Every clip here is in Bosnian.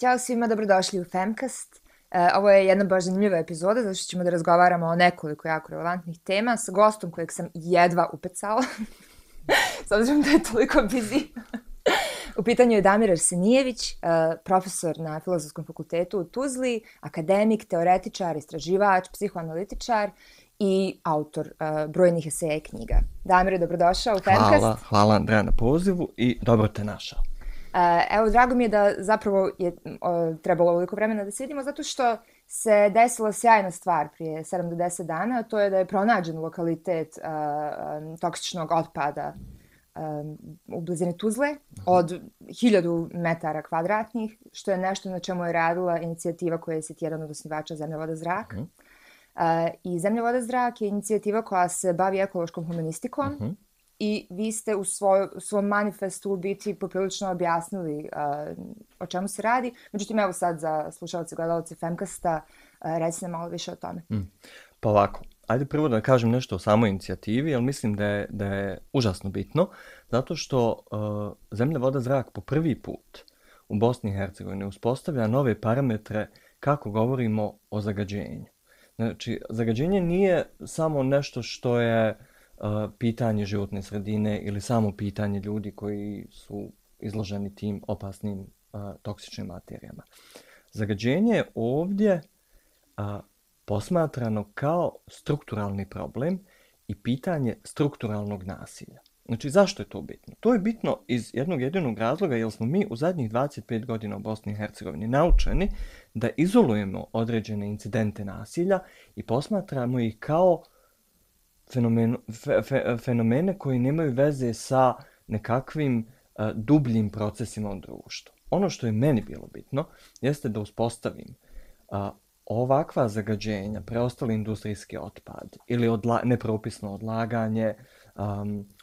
Ćao svima, dobrodošli u Femcast. Ovo je jedna baš zanimljiva epizoda, zato što ćemo da razgovaramo o nekoliko jako relevantnih tema sa gostom kojeg sam jedva upecala, s obzirom da je toliko busy. U pitanju je Damir Arsenijević, profesor na Filozofskom fakultetu u Tuzli, akademik, teoretičar, istraživač, psihoanalitičar i autor brojnih eseja i knjiga. Damire, dobrodošao u Femcast. Hvala Andreja na pozivu i dobro te našao. Evo, drago mi je da zapravo je trebalo ovoliko vremena da se vidimo, zato što se desila sjajna stvar prije 7 do 10 dana, a to je da je pronađen lokalitet toksičnog otpada u blizini Tuzle od 1000 metara kvadratnih, što je nešto na čemu je radila inicijativa koja je jedan od osnivača Zemlja, voda, zrak. I Zemlja, voda, zrak je inicijativa koja se bavi ekološkom humanistikom. I vi ste u svom manifestu u biti poprilično objasnili o čemu se radi. Međutim, evo sad za slušalce i gledalce Femcasta, reci nam malo više o tome. Pa ovako, ajde prvo da kažem nešto o samoj inicijativi, jer mislim da je užasno bitno, zato što Zemlja, voda, zrak po prvi put u Bosni i Hercegovini uspostavlja nove parametre kako govorimo o zagađenju. Znači, zagađenje nije samo nešto što je pitanje životne sredine ili samo pitanje ljudi koji su izloženi tim opasnim toksičnim materijama. Zagađenje je ovdje posmatrano kao strukturalni problem i pitanje strukturalnog nasilja. Znači, zašto je to bitno? To je bitno iz jednog jedinog razloga, jer smo mi u zadnjih 25 godina u Bosni i Hercegovini naučeni da izolujemo određene incidente nasilja i posmatramo ih kao fenomene koji nemaju veze sa nekakvim dubljim procesima u društvu. Ono što je meni bilo bitno jeste da uspostavim ovakva zagađenja, preostali industrijski otpad ili nepropisno odlaganje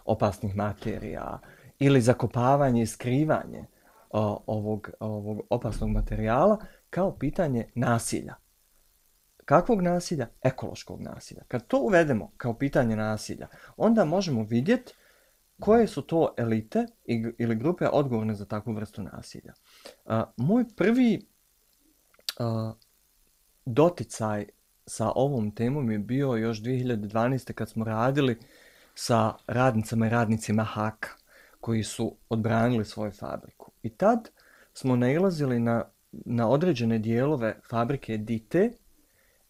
opasnih materija ili zakopavanje i skrivanje ovog opasnog materijala kao pitanje nasilja. Kakvog nasilja? Ekološkog nasilja. Kad to uvedemo kao pitanje nasilja, onda možemo vidjeti koje su to elite ili grupe odgovorne za takvu vrstu nasilja. Moj prvi doticaj sa ovom temom je bio još 2012. kad smo radili sa radnicama i radnicima HAK koji su odbranili svoju fabriku. I tad smo nailazili na određene dijelove fabrike Dite,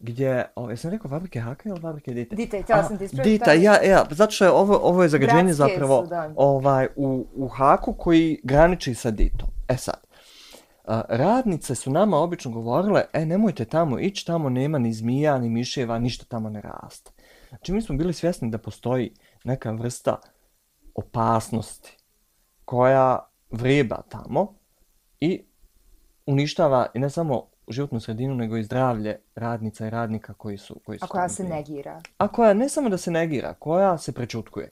gdje, jesam rekao fabrike Haka ili fabrike Dite? Dite, htjela sam ti ispraviti. Dita, ja, zato što je ovo je zagađenje Bratske zapravo su, u Haku koji graniči sa Ditom. Sad, radnice su nama obično govorile, nemojte tamo ići, tamo nema ni zmija, ni miševa, ništa tamo ne raste. Znači mi smo bili svjesni da postoji neka vrsta opasnosti koja vreba tamo i uništava i ne samo životnu sredinu, nego i zdravlje radnica i radnika koji su a koja se negira. A koja ne samo da se negira, koja se prečutkuje.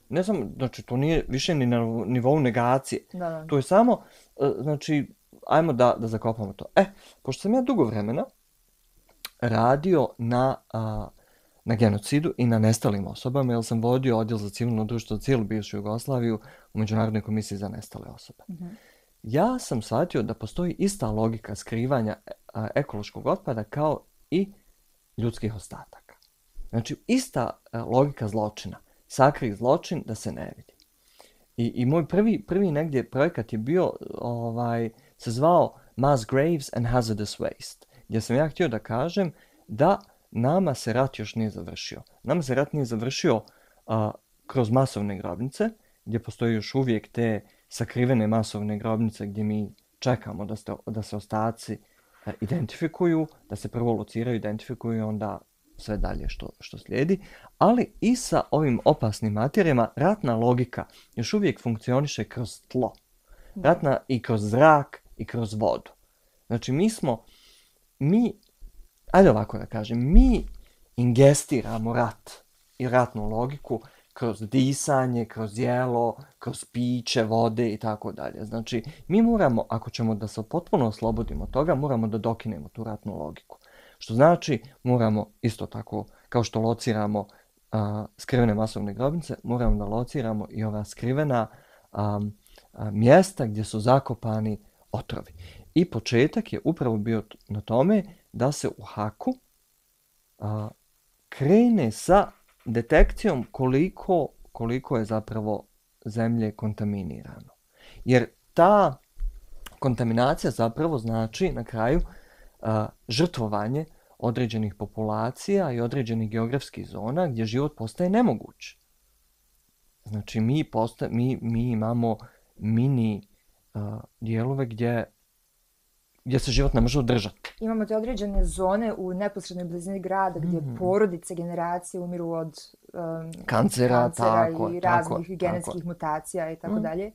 Ne samo, znači to nije više ni na nivou negacije. Da. To je samo, znači, ajmo da zakopamo to. Pošto sam ja dugo vremena radio na genocidu i na nestalim osobama, jer sam vodio odjel za civilno društvo za cijelu bivšu Jugoslaviju u Međunarodnoj komisiji za nestale osobe. Ja sam shvatio da postoji ista logika skrivanja ekološkog otpada kao i ljudskih ostataka. Znači, ista logika zločina. Sakri zločin da se ne vidi. I moj prvi negdje projekat je bio, se zvao Mass Graves and Hazardous Waste, gdje sam ja htio da kažem da nama se rat još nije završio. Nama se rat nije završio kroz masovne grobnice, gdje postoji još uvijek te sakrivene masovne grobnice gdje mi čekamo da se ostaci identifikuju, da se prvo lociraju, identifikuju i onda sve dalje što slijedi. Ali i sa ovim opasnim materijama ratna logika još uvijek funkcioniše kroz tlo. Ratna i kroz zrak i kroz vodu. Znači ajde ovako da kažem, mi ingestiramo rat i ratnu logiku kroz disanje, kroz jelo, kroz piće, vode i tako dalje. Znači, mi moramo, ako ćemo da se potpuno oslobodimo toga, moramo da dokinemo tu ratnu logiku. Što znači, moramo isto tako, kao što lociramo skrivene masovne grobnice, moramo da lociramo i ova skrivena mjesta gdje su zakopani otrovi. I početak je upravo bio na tome da se u Haku krene sa detekcijom koliko je zapravo zemlje kontaminirano. Jer ta kontaminacija zapravo znači na kraju žrtvovanje određenih populacija i određenih geografskih zona gdje život postaje nemoguć. Znači mi imamo mini dijelove gdje se život ne može održati. Imamo te određene zone u neposrednoj blizini grada gdje porodice, generacije umiru od kancera tako, i raznih genetskih mutacija i tako dalje.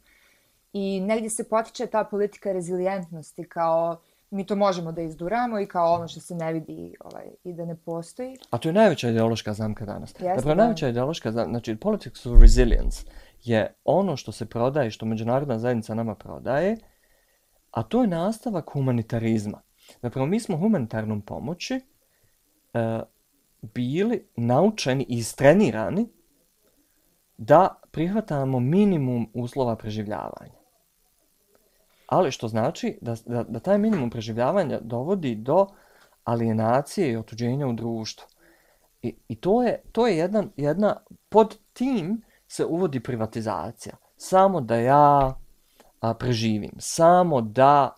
I negdje se potiče ta politika rezilijentnosti kao mi to možemo da izduramo i kao ono što se ne vidi i da ne postoji. A to je najveća ideološka zamka danas. Jeste, najveća ideološka zamka, znači politics of resilience je ono što se prodaje, što međunarodna zajednica nama prodaje, a to je nastavak humanitarizma. Zapravo mi smo humanitarnom pomoći bili naučeni i istrenirani da prihvatamo minimum uslova preživljavanja. Ali što znači da taj minimum preživljavanja dovodi do alienacije i otuđenja u društvu. I to je jedna pod tim se uvodi privatizacija. Samo da ja preživim, samo da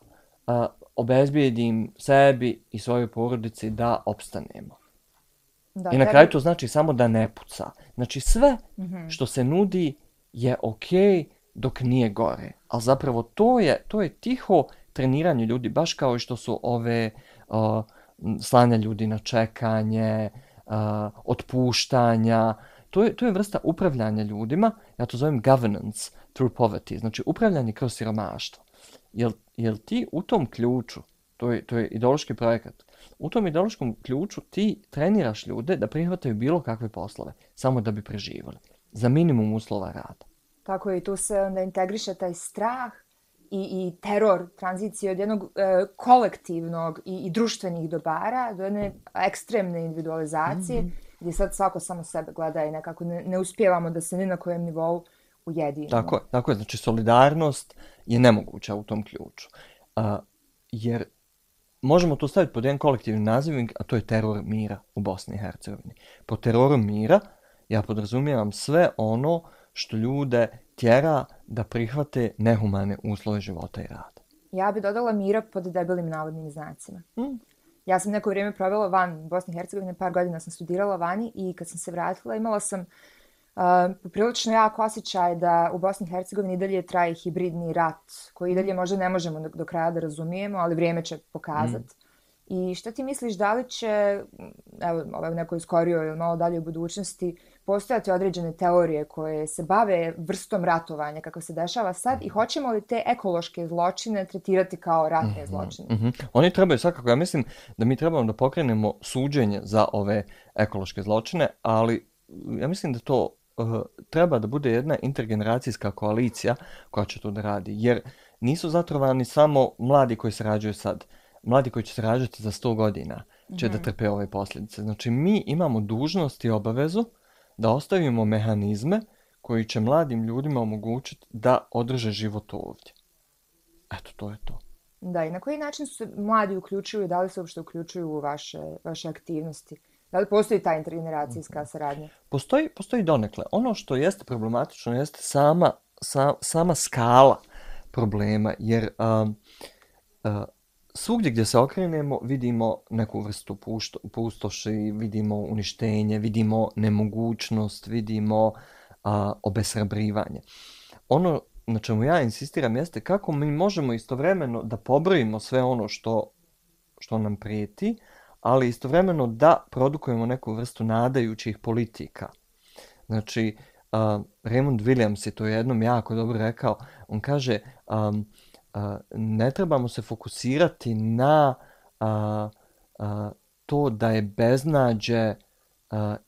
obezbijedim sebi i svojoj porodici da opstanemo. Da, i na kraju to znači samo da ne puca. Znači sve što se nudi je okej dok nije gore. Ali zapravo to je tiho treniranje ljudi, baš kao i što su ove slanja ljudi na čekanje, otpuštanja. To je vrsta upravljanja ljudima, ja to zovem governance through poverty, znači upravljanje kroz siromaštvo. Jel ti u tom ključu, to je ideološki projekat, u tom ideološkom ključu ti treniraš ljude da prihvataju bilo kakve poslove, samo da bi preživjeli, za minimum uslova rada. Tako je, i tu se onda integriše taj strah i teror tranzicije od jednog kolektivnog i društvenih dobara do jedne ekstremne individualizacije, gdje sad svako samo sebe gleda i nekako ne uspijevamo da se ni na kojem nivou ujedinimo. Tako je, znači solidarnost je nemoguća u tom ključu. Jer možemo to staviti pod jedan kolektivni nazivnik, a to je teror mira u Bosni i Hercegovini. Po teroru mira ja podrazumijevam sve ono što ljude tjera da prihvate nehumane uslove života i rada. Ja bi dodala mira pod debelim navodnim znacima. Ja sam neko vrijeme provela van Bosne i Hercegovine, par godina sam studirala vani i kad sam se vratila imala sam poprilično jak osjećaj da u Bosni i Hercegovini i dalje traje hibridni rat, koji i dalje možda ne možemo do kraja da razumijemo, ali vrijeme će pokazati. I šta ti misliš, da li će, evo, u nekoj skorijoj ili malo dalje u budućnosti, postojati određene teorije koje se bave vrstom ratovanja kako se dešava sad i hoćemo li te ekološke zločine tretirati kao ratne zločine? Oni trebaju svakako, ja mislim da mi trebamo da pokrenemo suđenje za ove ekološke zločine, ali ja mislim da to treba da bude jedna intergeneracijska koalicija koja će to da radi, jer nisu zatrovani samo mladi koji se rađaju sad. Mladi koji će se rađati za 100 godina će da trpe ove posljedice. Znači mi imamo dužnost i obavezu da ostavimo mehanizme koji će mladim ljudima omogućiti da održe život ovdje. Eto, to je to. Da, i na koji način se mladi uključuju i da li se uopšte uključuju u vaše aktivnosti? Da li postoji ta intergeneracijska saradnja? Postoji donekle. Ono što jeste problematično jeste sama skala problema, jer svugdje gdje se okrenemo vidimo neku vrstu pustoši, vidimo uništenje, vidimo nemogućnost, vidimo obeshrabrivanje. Ono na čemu ja insistiram jeste kako mi možemo istovremeno da pobrojimo sve ono što nam prijeti, ali istovremeno da produkujemo neku vrstu nadajućih politika. Znači, Raymond Williams je to jednom jako dobro rekao. On kaže, ne trebamo se fokusirati na to da je beznađe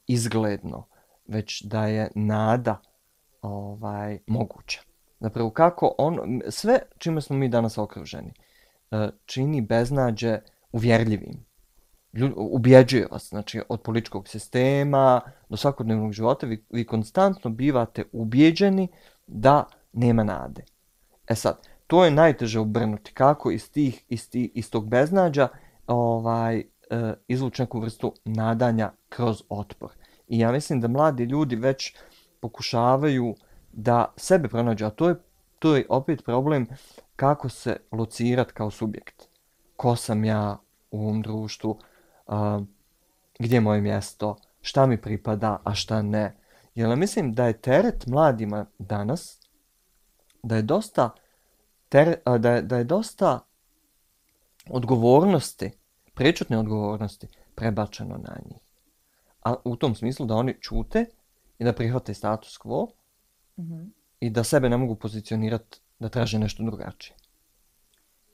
izgledno, već da je nada moguća. Zapravo kako sve čime smo mi danas okruženi čini beznađe uvjerljivim. Ubjeđuje vas, znači od političkog sistema do svakodnevnog života vi konstantno bivate ubjeđeni da nema nade. E sad, to je najteže obrnuti. Kako iz tog beznađa izvući neku vrstu nadanja kroz otpor. I ja mislim da mladi ljudi već pokušavaju da sebe pronađu, a to je opet problem kako se locirati kao subjekt. Ko sam ja u ovom društvu, gdje je moje mjesto, šta mi pripada, a šta ne. Jer mislim da je teret mladima danas, da je dosta odgovornosti, prečutne odgovornosti prebačeno na njih. A u tom smislu da oni ćute i da prihvate status quo i da sebe ne mogu pozicionirati da traže nešto drugačije.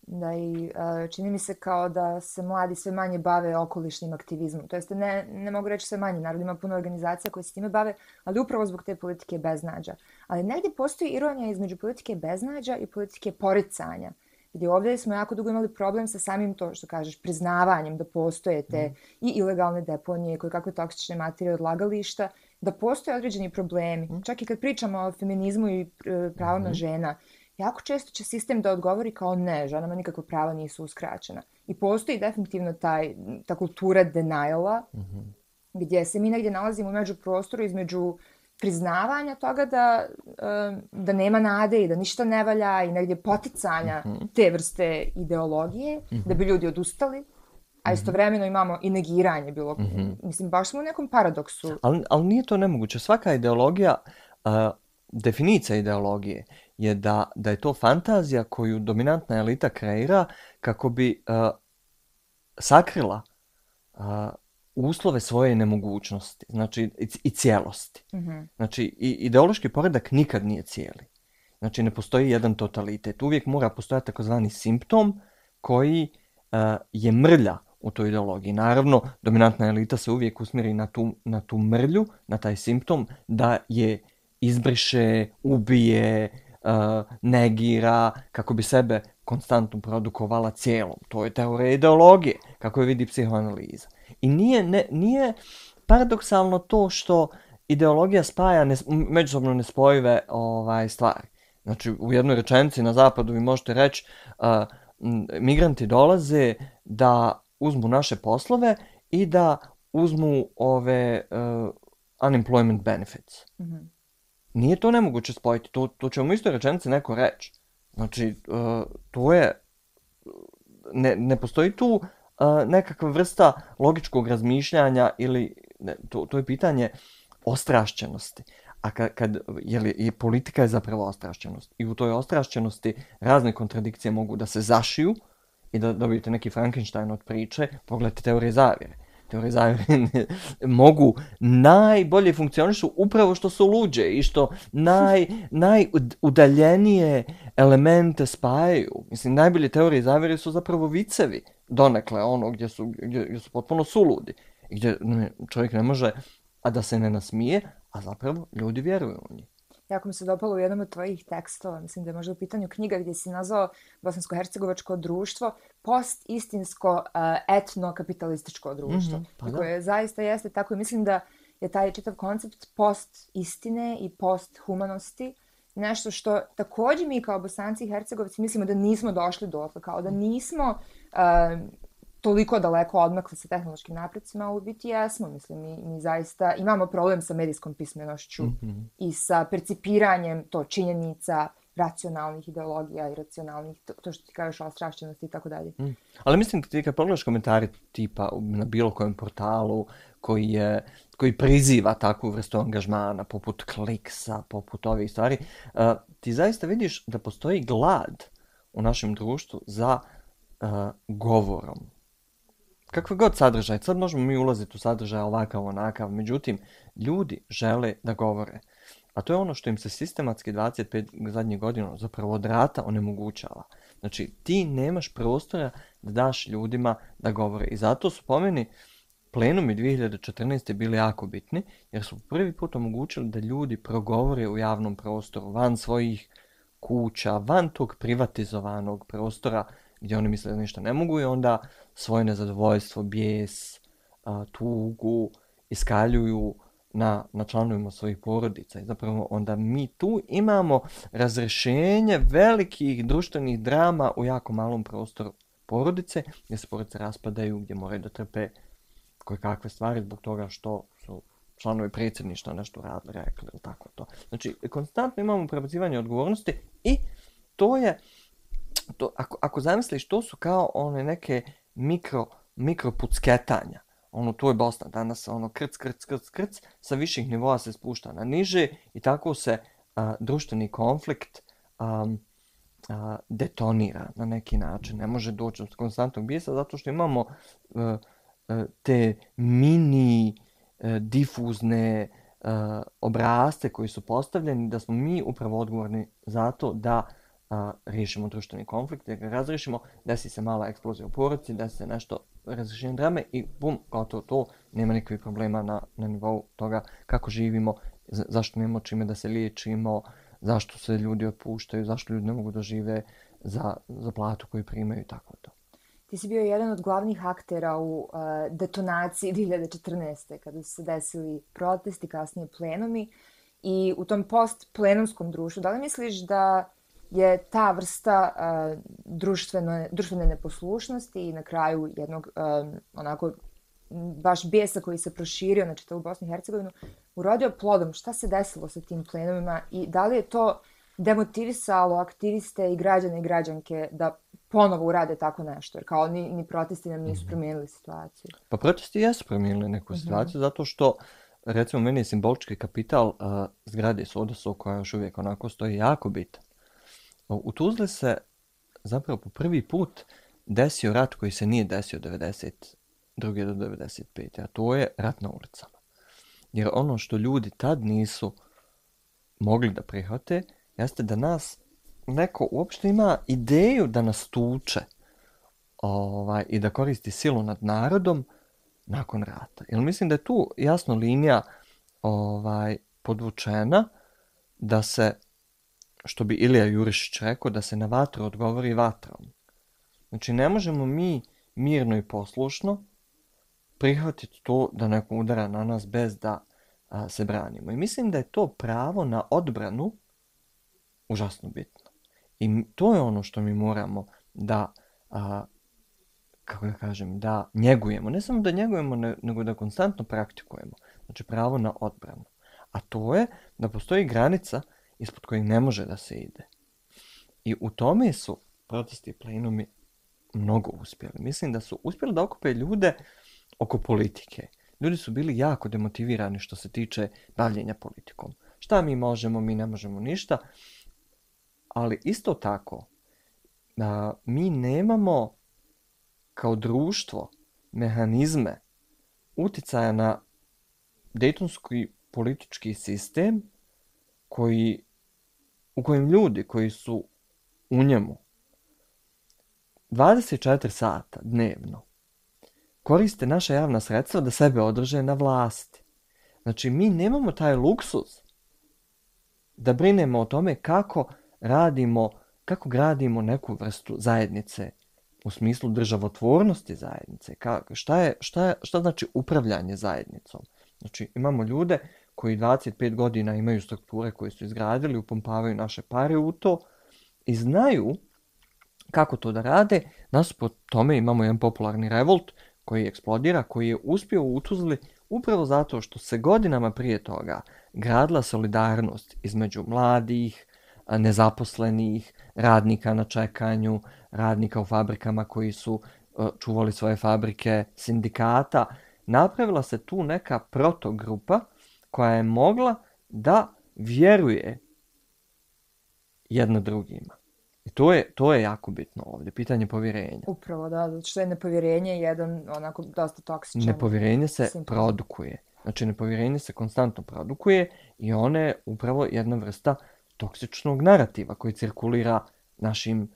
Da i čini mi se kao da se mladi sve manje bave okolišnim aktivizmom. To jest ne mogu reći sve manje, naravno ima puno organizacija koje se time bave, ali upravo zbog te politike beznađa. Ali negdje postoji ironija između politike beznađa i politike poricanja. Gdje ovdje smo jako dugo imali problem sa samim to što kažeš priznavanjem da postoje te i ilegalne deponije, koje kakve toksične materije odlagališta, da postoje određeni problemi. Čak i kad pričamo o feminizmu i pravima žena, jako često će sistem da odgovori kao ne, ženama nikakva prava nisu uskraćena. I postoji definitivno ta kultura deniala, gdje se mi negdje nalazimo u međuprostoru između priznavanja toga da nema nade i da ništa ne valja i negdje poticanja te vrste ideologije, da bi ljudi odustali, a istovremeno imamo i negiranje bilo. Mislim, baš smo u nekom paradoksu. Ali nije to nemoguće. Svaka ideologija, definicija ideologije je da je to fantazija koju dominantna elita kreira kako bi sakrila uslove svoje nemogućnosti, znači i cijelosti. Znači, ideološki poredak nikad nije cijeli. Znači, ne postoji jedan totalitet. Uvijek mora postojati takozvani simptom koji je mrlja u toj ideologiji. Naravno, dominantna elita se uvijek usmjeri na tu mrlju, na taj simptom, da je izbriše, ubije, negira, kako bi sebe konstantno produkovala cijelom. To je teorija ideologije, kako je vidi psihoanaliza. I nije paradoksalno to što ideologija spaja međusobno nespojive stvari. Znači, u jednoj rečenici na zapadu vi možete reći migranti dolaze da uzmu naše poslove i da uzmu ove unemployment benefits. Nije to nemoguće spojiti. To će u istoj rečenici neko reći. Znači, to je... Ne postoji tu nekakva vrsta logičkog razmišljanja ili... To je pitanje ostrašćenosti. A i politika je zapravo ostrašćenost. I u toj ostrašćenosti razne kontradikcije mogu da se zašiju i da dobijete neki Frankenstein od priče. Pogledajte teorije zavjere. Teorije zavjere mogu najbolje funkcionišu upravo što su luđe i što najudaljenije elemente spajaju. Mislim, najbolje teorije zavjere su zapravo vicevi donekle, gdje su potpuno suludi. Gdje čovjek ne može, a da se ne nasmije, a zapravo ljudi vjeruju u njih. Jako mi se dopalo u jednom od tvojih tekstova, mislim da je možda u pitanju knjiga gdje si nazvao bosansko-hercegovačko društvo post-istinsko etno-kapitalističko društvo. Koje zaista jeste tako i mislim da je taj čitav koncept post-istine i post-humanosti nešto što također mi kao Bosanci i Hercegovci mislimo da nismo došli dotle, kao da nismo toliko daleko odmakli sa tehnološkim napredcima, u biti jesmo. Mislim, mi zaista imamo problem sa medijskom pismenošću i sa percipiranjem to činjenica, racionalnih ideologija i racionalnih, to što ti kažeš o ostrašćenosti i tako dalje. Ali mislim da ti kad pogledaš komentari tipa na bilo kojem portalu koji priziva takvu vrstu angažmana, poput Kliksa, poput ovih stvari, ti zaista vidiš da postoji glad u našem društvu za govorom. Kakve god sadržaj, sad možemo mi ulaziti u sadržaj ovakav, onakav, međutim, ljudi žele da govore. A to je ono što im se sistematski 25 zadnjih godina zapravo od rata onemogućava. Znači, ti nemaš prostora da daš ljudima da govore. I zato su po meni plenumi 2014. bili jako bitni, jer su prvi put omogućili da ljudi progovore u javnom prostoru, van svojih kuća, van tog privatizovanog prostora gdje oni misle da ništa ne mogu i onda svoje nezadovoljstvo, bijes, tugu iskaljuju na članovima svojih porodica. I zapravo onda mi tu imamo razrešenje velikih društvenih drama u jako malom prostoru porodice, gdje se porodice raspadaju, gdje moraju da trpe koje kakve stvari zbog toga što su članovi predsjedništva nešto radili, rekli ili tako to. Znači, konstantno imamo prebacivanje odgovornosti i to je, ako zamisliš, to su kao one neke mikro pucketanja. To je Bosna danas, krc, sa viših nivoa se spušta na niže i tako se društveni konflikt detonira na neki način. Ne može doći od konstantnog bijesa zato što imamo te mini difuzne obrasce koji su postavljeni, da smo mi upravo odgovorni za to da riješimo društveni konflikt, da ga razriješimo, desi se mala eksplozija u porodici, desi se nešto razrješenje drame i bum, gotovo to, nema nikakvih problema na nivou toga kako živimo, zašto nemamo čime da se liječimo, zašto se ljudi otpuštaju, zašto ljudi ne mogu da žive za platu koju primaju i tako to. Ti si bio jedan od glavnih aktera u detonaciji 2014. kada su se desili protesti, kasnije plenumi i u tom post-plenumskom društvu. Da li misliš da je ta vrsta društvene neposlušnosti i na kraju jednog onako baš bijesa koji se proširio na čitavu Bosnu i Hercegovinu urodio plodom? Šta se desilo sa tim plenumima i da li je to demotivisalo aktiviste i građane i građanke da ponovo urade tako nešto? Jer kao ni protesti nam nisu promijenili situaciju. Pa protesti jesu promijenili neku situaciju zato što, recimo, meni je simbolički kapital zgrade Sodoso koja još uvijek onako stoji jako bitan. U Tuzli se zapravo po prvi put desio rat koji se nije desio 92. do 95. A to je rat na ulicama. Jer ono što ljudi tad nisu mogli da prihvate jeste da nas neko uopšte ima ideju da nas tuče i da koristi silu nad narodom nakon rata. Jer mislim da je tu jasno linija podvučena da se, što bi Ilija Jurišić rekao, da se na vatru odgovori vatrom. Znači, ne možemo mi mirno i poslušno prihvatiti to da neko udara na nas bez da se branimo. I mislim da je to pravo na odbranu užasno bitno. I to je ono što mi moramo da, da njegujemo. Ne samo da njegujemo, nego da konstantno praktikujemo. Znači, pravo na odbranu. A to je da postoji granica ispod kojih ne može da se ide. I u tome su protesti i plenumi mnogo uspjeli. Mislim da su uspjeli da okupe ljude oko politike. Ljudi su bili jako demotivirani što se tiče bavljenja politikom. Šta mi možemo, mi ne možemo ništa. Ali isto tako, mi nemamo kao društvo mehanizme uticaja na dejtonski politički sistem u kojem ljudi koji su u njemu 24 sata dnevno koriste naša javna sredstva da sebe održe na vlasti. Znači, mi nemamo taj luksuz da brinemo o tome kako gradimo neku vrstu zajednice u smislu državotvornosti zajednice. Šta znači upravljanje zajednicom? Znači, imamo ljude koji 25 godina imaju strukture koje su izgradili, upumpavaju naše pare u to i znaju kako to da rade. Nasuprot tome imamo jedan popularni revolt koji eksplodira, koji je uspio u Tuzli upravo zato što se godinama prije toga gradila solidarnost između mladih, nezaposlenih, radnika na čekanju, radnika u fabrikama koji su čuvali svoje fabrike, sindikata. Napravila se tu neka protogrupa koja je mogla da vjeruje jedno drugima. I to je jako bitno ovdje, pitanje povjerenja. Upravo, da, zato što je nepovjerenje jedan onako dosta toksičan. Nepovjerenje se produkuje. Znači, nepovjerenje se konstantno produkuje i ono je upravo jedna vrsta toksičnog narativa koji cirkulira našim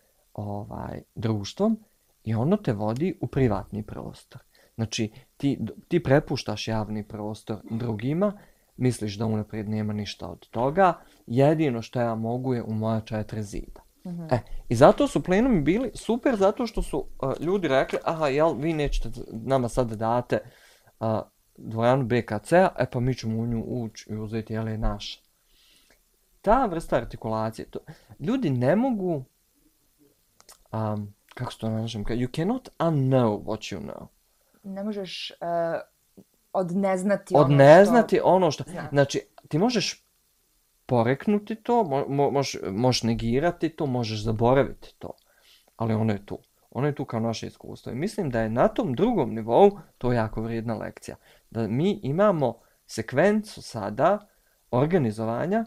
društvom i ono te vodi u privatni prostor. Znači, ti prepuštaš javni prostor drugima, misliš da unaprijed nema ništa od toga, jedino što ja mogu je u moja 4 zida. Mm-hmm. I zato su plenumi bili super, zato što su ljudi rekli, aha, jel, vi nećete nama sad da date dvoranu BKC-a, pa mi ćemo u nju ući i uzeti, je naša. Ta vrsta artikulacije, ljudi ne mogu, kako se to našem, you cannot unknow what you know. Ne možeš odneznati ono što... Znači, ti možeš poreknuti to, možeš negirati to, možeš zaboraviti to, ali ono je tu. Ono je tu kao naše iskustvo. I mislim da je na tom drugom nivou to jako vrijedna lekcija. Da mi imamo sekvencu sada organizovanja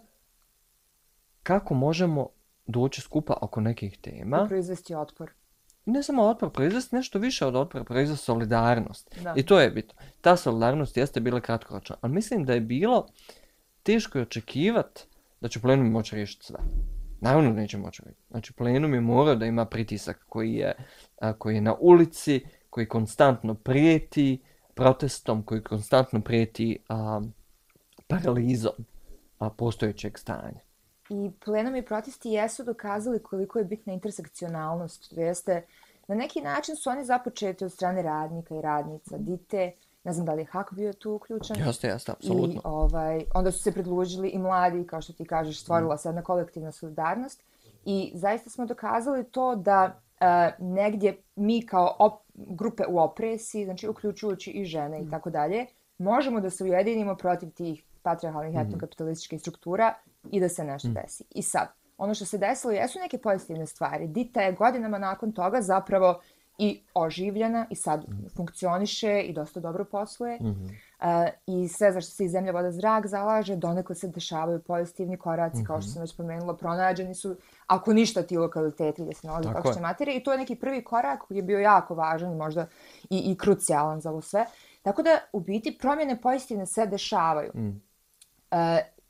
kako možemo doći skupa oko nekih tema. I proizvesti otpor. Ne samo otpor, proizvesti nešto više od otpora, proizvesti solidarnost. Da. I to je bitno. Ta solidarnost jeste bila kratkoročna. Ali mislim da je bilo teško očekivati da će plenum moći riješiti sve. Naravno neće moći riješiti. Znači plenum je morao da ima pritisak koji je na ulici, koji konstantno prijeti protestom, koji konstantno prijeti paralizom postojećeg stanja. I plenumi protesti jesu dokazali koliko je bitna intersekcionalnost. To jeste, na neki način su oni započeti od strane radnika i radnica, dite, ne znam da li je Hak bio tu uključen. Jeste, apsolutno. I onda su se pridružili i mladi, kao što ti kažeš, stvorila se jedna kolektivna solidarnost. I zaista smo dokazali to da negdje mi kao grupe u opresiji, znači uključujući i žene i tako dalje, možemo da se ujedinimo protiv tih patrijarhalnih etnokapitalističkih struktura i da se nešto desi. I sad, ono što se desilo jesu neke pozitivne stvari. Dita je godinama nakon toga zapravo i oživljena i sad funkcioniše i dosta dobro posluje. I sve za što se i zemlja, voda, zrak zalaže, donekle se dešavaju pozitivni koraci, kao što sam već pomenula, pronađeni su, ako ništa, ti lokaliteti gdje se nalazi toksične materije. I to je neki prvi korak koji je bio jako važan i možda i krucijalan za ovo sve. Tako da, u biti, promjene pozitivne se dešavaju.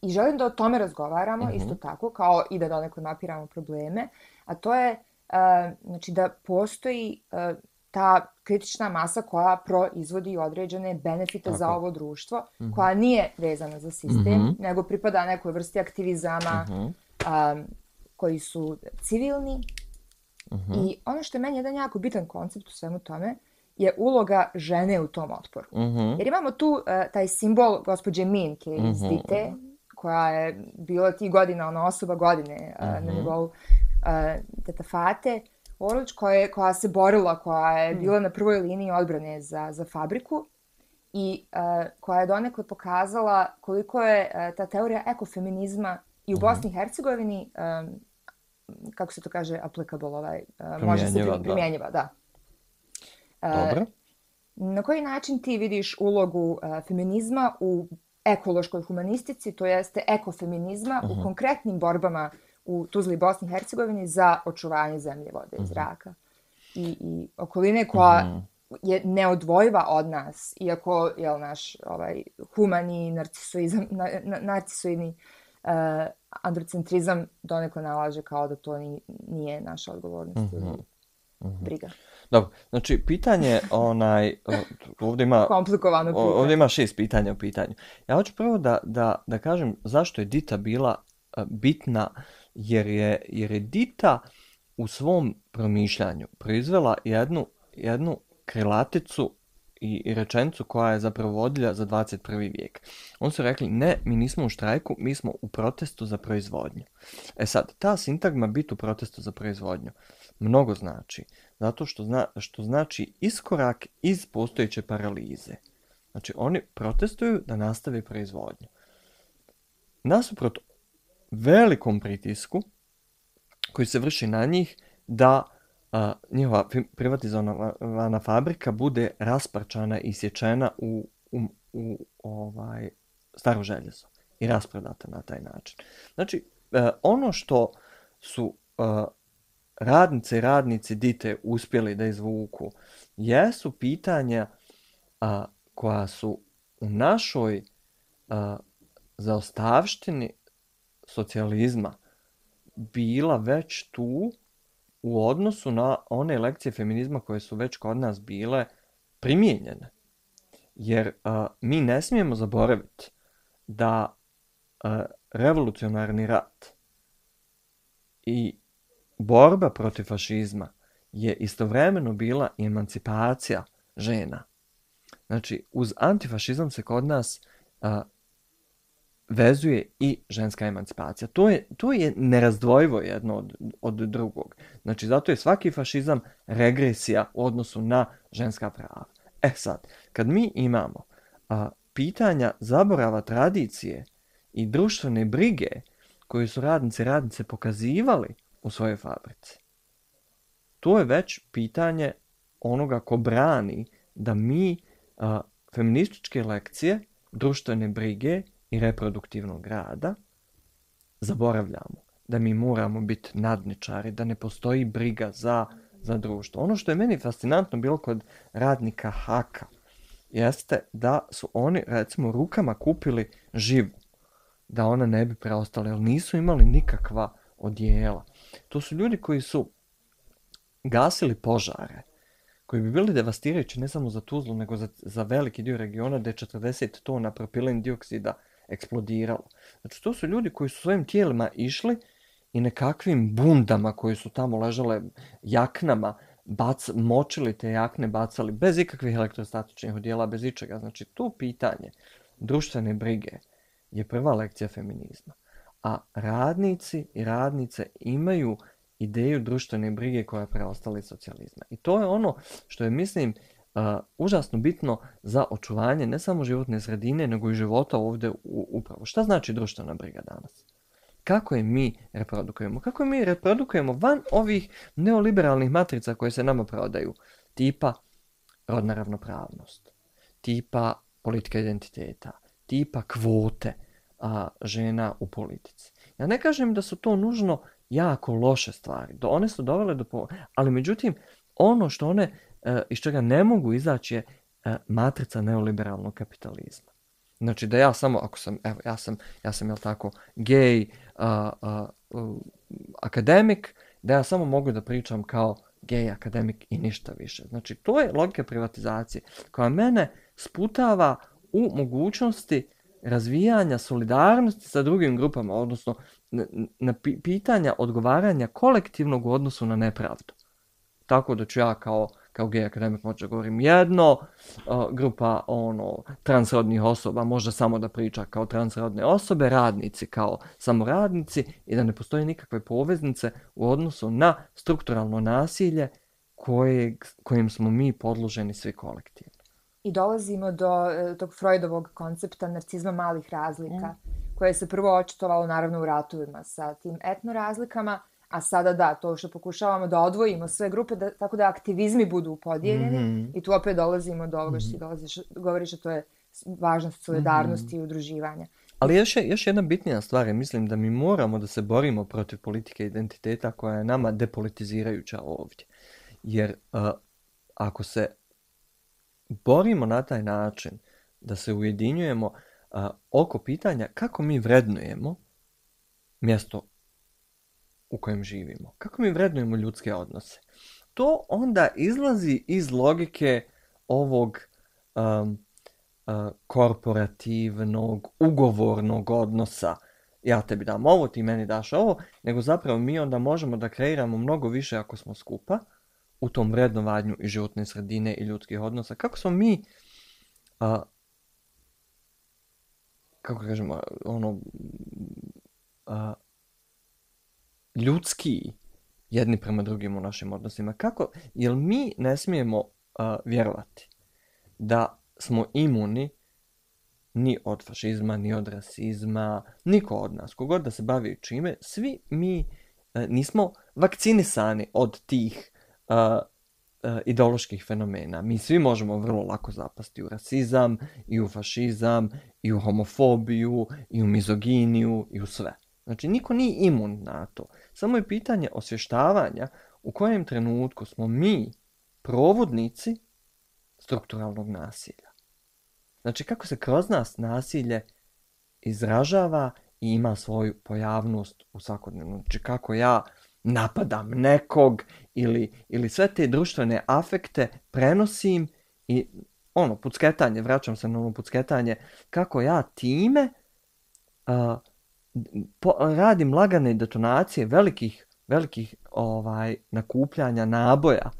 I želim da o tome razgovaramo, isto tako, kao i da donekle mapiramo probleme, a to je znači da postoji ta kritična masa koja proizvodi određene benefite za ovo društvo, koja nije vezana za sistem, nego pripada nekoj vrsti aktivizama koji su civilni. I ono što je meni jedan jako bitan koncept u svemu tome je uloga žene u tom otporu. Jer imamo tu taj simbol gospođe Minke iz Dite, koja je bila tih godina, ona osoba godine na nivou teta Fate Orlić, koja se borila, koja je bila na prvoj liniji odbrane za fabriku i koja je donekle pokazala koliko je ta teorija ekofeminizma i u Bosni i Hercegovini, kako se to kaže, applicable, može se primjenjiva, da. Dobro. Na koji način ti vidiš ulogu feminizma u ekološkoj humanistici, to jeste ekofeminizma u konkretnim borbama u Tuzli i Bosni i Hercegovini za očuvanje zemlje, vode i zraka i okoline koja je neodvojiva od nas, iako je naš humani narcisoidni androcentrizam donekle nalaže kao da to nije naša odgovornost ili briga. Dobro, znači pitanje ovdje ima komplikovano pitanje. Ovdje ima 6 pitanja u pitanju. Ja hoću prvo da kažem zašto je Dita bila bitna, jer je Dita u svom promišljanju proizvela jednu krilaticu i rečenicu koja je zapravo vodilja za 21. vijek. Oni su rekli, ne, mi nismo u štrajku, mi smo u protestu za proizvodnju. E sad, ta sintagma biti u protestu za proizvodnju mnogo znači, zato što znači iskorak iz postojeće paralize. Znači, oni protestuju da nastave proizvodnju. Nasuprot velikom pritisku koji se vrši na njih da njihova privatizovana fabrika bude rasparčana i sječena u staro željezo i rasprodata na taj način. Znači, ono što su radnice i radnici Dite uspjeli da izvuku jesu pitanja koja su u našoj zaostavštini socijalizma bila već tu u odnosu na one lekcije feminizma koje su već kod nas bile primijenjene. Jer mi ne smijemo zaboraviti da revolucionarni rat i borba protiv fašizma je istovremeno bila emancipacija žena. Znači, uz antifašizam se kod nas vezuje i ženska emancipacija. To je nerazdvojivo jedno od drugog. Znači, zato je svaki fašizam regresija u odnosu na ženska prava. Sad, kad mi imamo pitanja zaborava tradicije i društvene brige koju su radnice pokazivali u svojoj fabrici, to je već pitanje onoga ko brani da mi feminističke lekcije, društvene brige i reproduktivnog rada zaboravljamo. Da mi moramo biti nadničari, da ne postoji briga za društvo. Ono što je meni fascinantno bilo kod radnika Haka jeste da su oni, recimo, rukama kupili živu, da ona ne bi preostala, jer nisu imali nikakva odijela. To su ljudi koji su gasili požare, koji bi bili devastirajući ne samo za Tuzlu, nego za veliki dio regiona gdje je 40 tona propilen dioksida eksplodiralo. Znači, to su ljudi koji su svojim tijelima išli i nekakvim bundama koji su tamo ležale, jaknama, močili te jakne, bacali bez ikakvih elektrostatičnih odjela, bez ičega. Znači, to pitanje društvene brige je prva lekcija feminizma. A radnici i radnice imaju ideju društvene brige koja je preostala iz socijalizma. I to je ono što je, mislim, užasno bitno za očuvanje ne samo životne sredine, nego i života ovdje upravo. Šta znači društvena briga danas? Kako je mi reprodukujemo? Kako je mi reprodukujemo van ovih neoliberalnih matrica koje se nama prodaju? Tipa rodna ravnopravnost, tipa politika identiteta, tipa kvote žena u politici. Ja ne kažem da su to nužno jako loše stvari. One su dovele ali međutim, ono što one iz čega ne mogu izaći je matrica neoliberalnog kapitalizma. Znači da ja samo, ako sam, evo, ja sam jel tako, gej, akademik, da ja samo mogu da pričam kao gej akademik i ništa više. Znači, to je logika privatizacije koja mene sputava u mogućnosti razvijanja solidarnosti sa drugim grupama, odnosno na pitanja odgovaranja kolektivnog u odnosu na nepravdu. Tako da ću ja kao gej akademik možda govorim jedno, grupa transrodnih osoba može samo da priča kao transrodne osobe, radnici kao samo radnici i da ne postoji nikakve poveznice u odnosu na strukturalno nasilje kojim smo mi podloženi svi kolektivno. I dolazimo do tog Freudovog koncepta narcizma malih razlika, koje se prvo očitovalo naravno u ratovima sa tim etno razlikama, a sada da, to što pokušavamo da odvojimo sve grupe, tako da aktivizmi budu podijeljeni i tu opet dolazimo do ovoga što ti govoriš, a to je važnost solidarnosti i udruživanja. Ali još jedna bitnija stvar je, mislim da mi moramo da se borimo protiv politike identiteta koja je nama depolitizirajuća ovdje. Jer ako se borimo na taj način da se ujedinjujemo oko pitanja kako mi vrednujemo mjesto u kojem živimo, kako mi vrednujemo ljudske odnose, to onda izlazi iz logike ovog korporativnog, ugovornog odnosa. Ja tebi dam ovo, ti meni daš ovo, nego zapravo mi onda možemo da kreiramo mnogo više ako smo skupa u tom vrednovanju i životne sredine i ljudskih odnosa. Kako smo mi, kako kažemo, ljudski jedni prema drugim u našim odnosima. Jer mi ne smijemo vjerovati da smo imuni ni od fašizma, ni od rasizma, niko od nas, kogod da se bavi čime, svi mi nismo vakcinisani od tih ideoloških fenomena. Mi svi možemo vrlo lako zapasti u rasizam, i u fašizam, i u homofobiju, i u mizoginiju, i u sve. Znači, niko nije imun na to. Samo je pitanje osvještavanja u kojem trenutku smo mi provodnici strukturalnog nasilja. Znači, kako se kroz nas nasilje izražava i ima svoju pojavnost u svakodnevnom. Znači, kako ja napadam nekog ili sve te društvene afekte prenosim i pucketanje, vraćam se na ono pucketanje, kako ja time radim lagane detonacije velikih nakupljanja naboja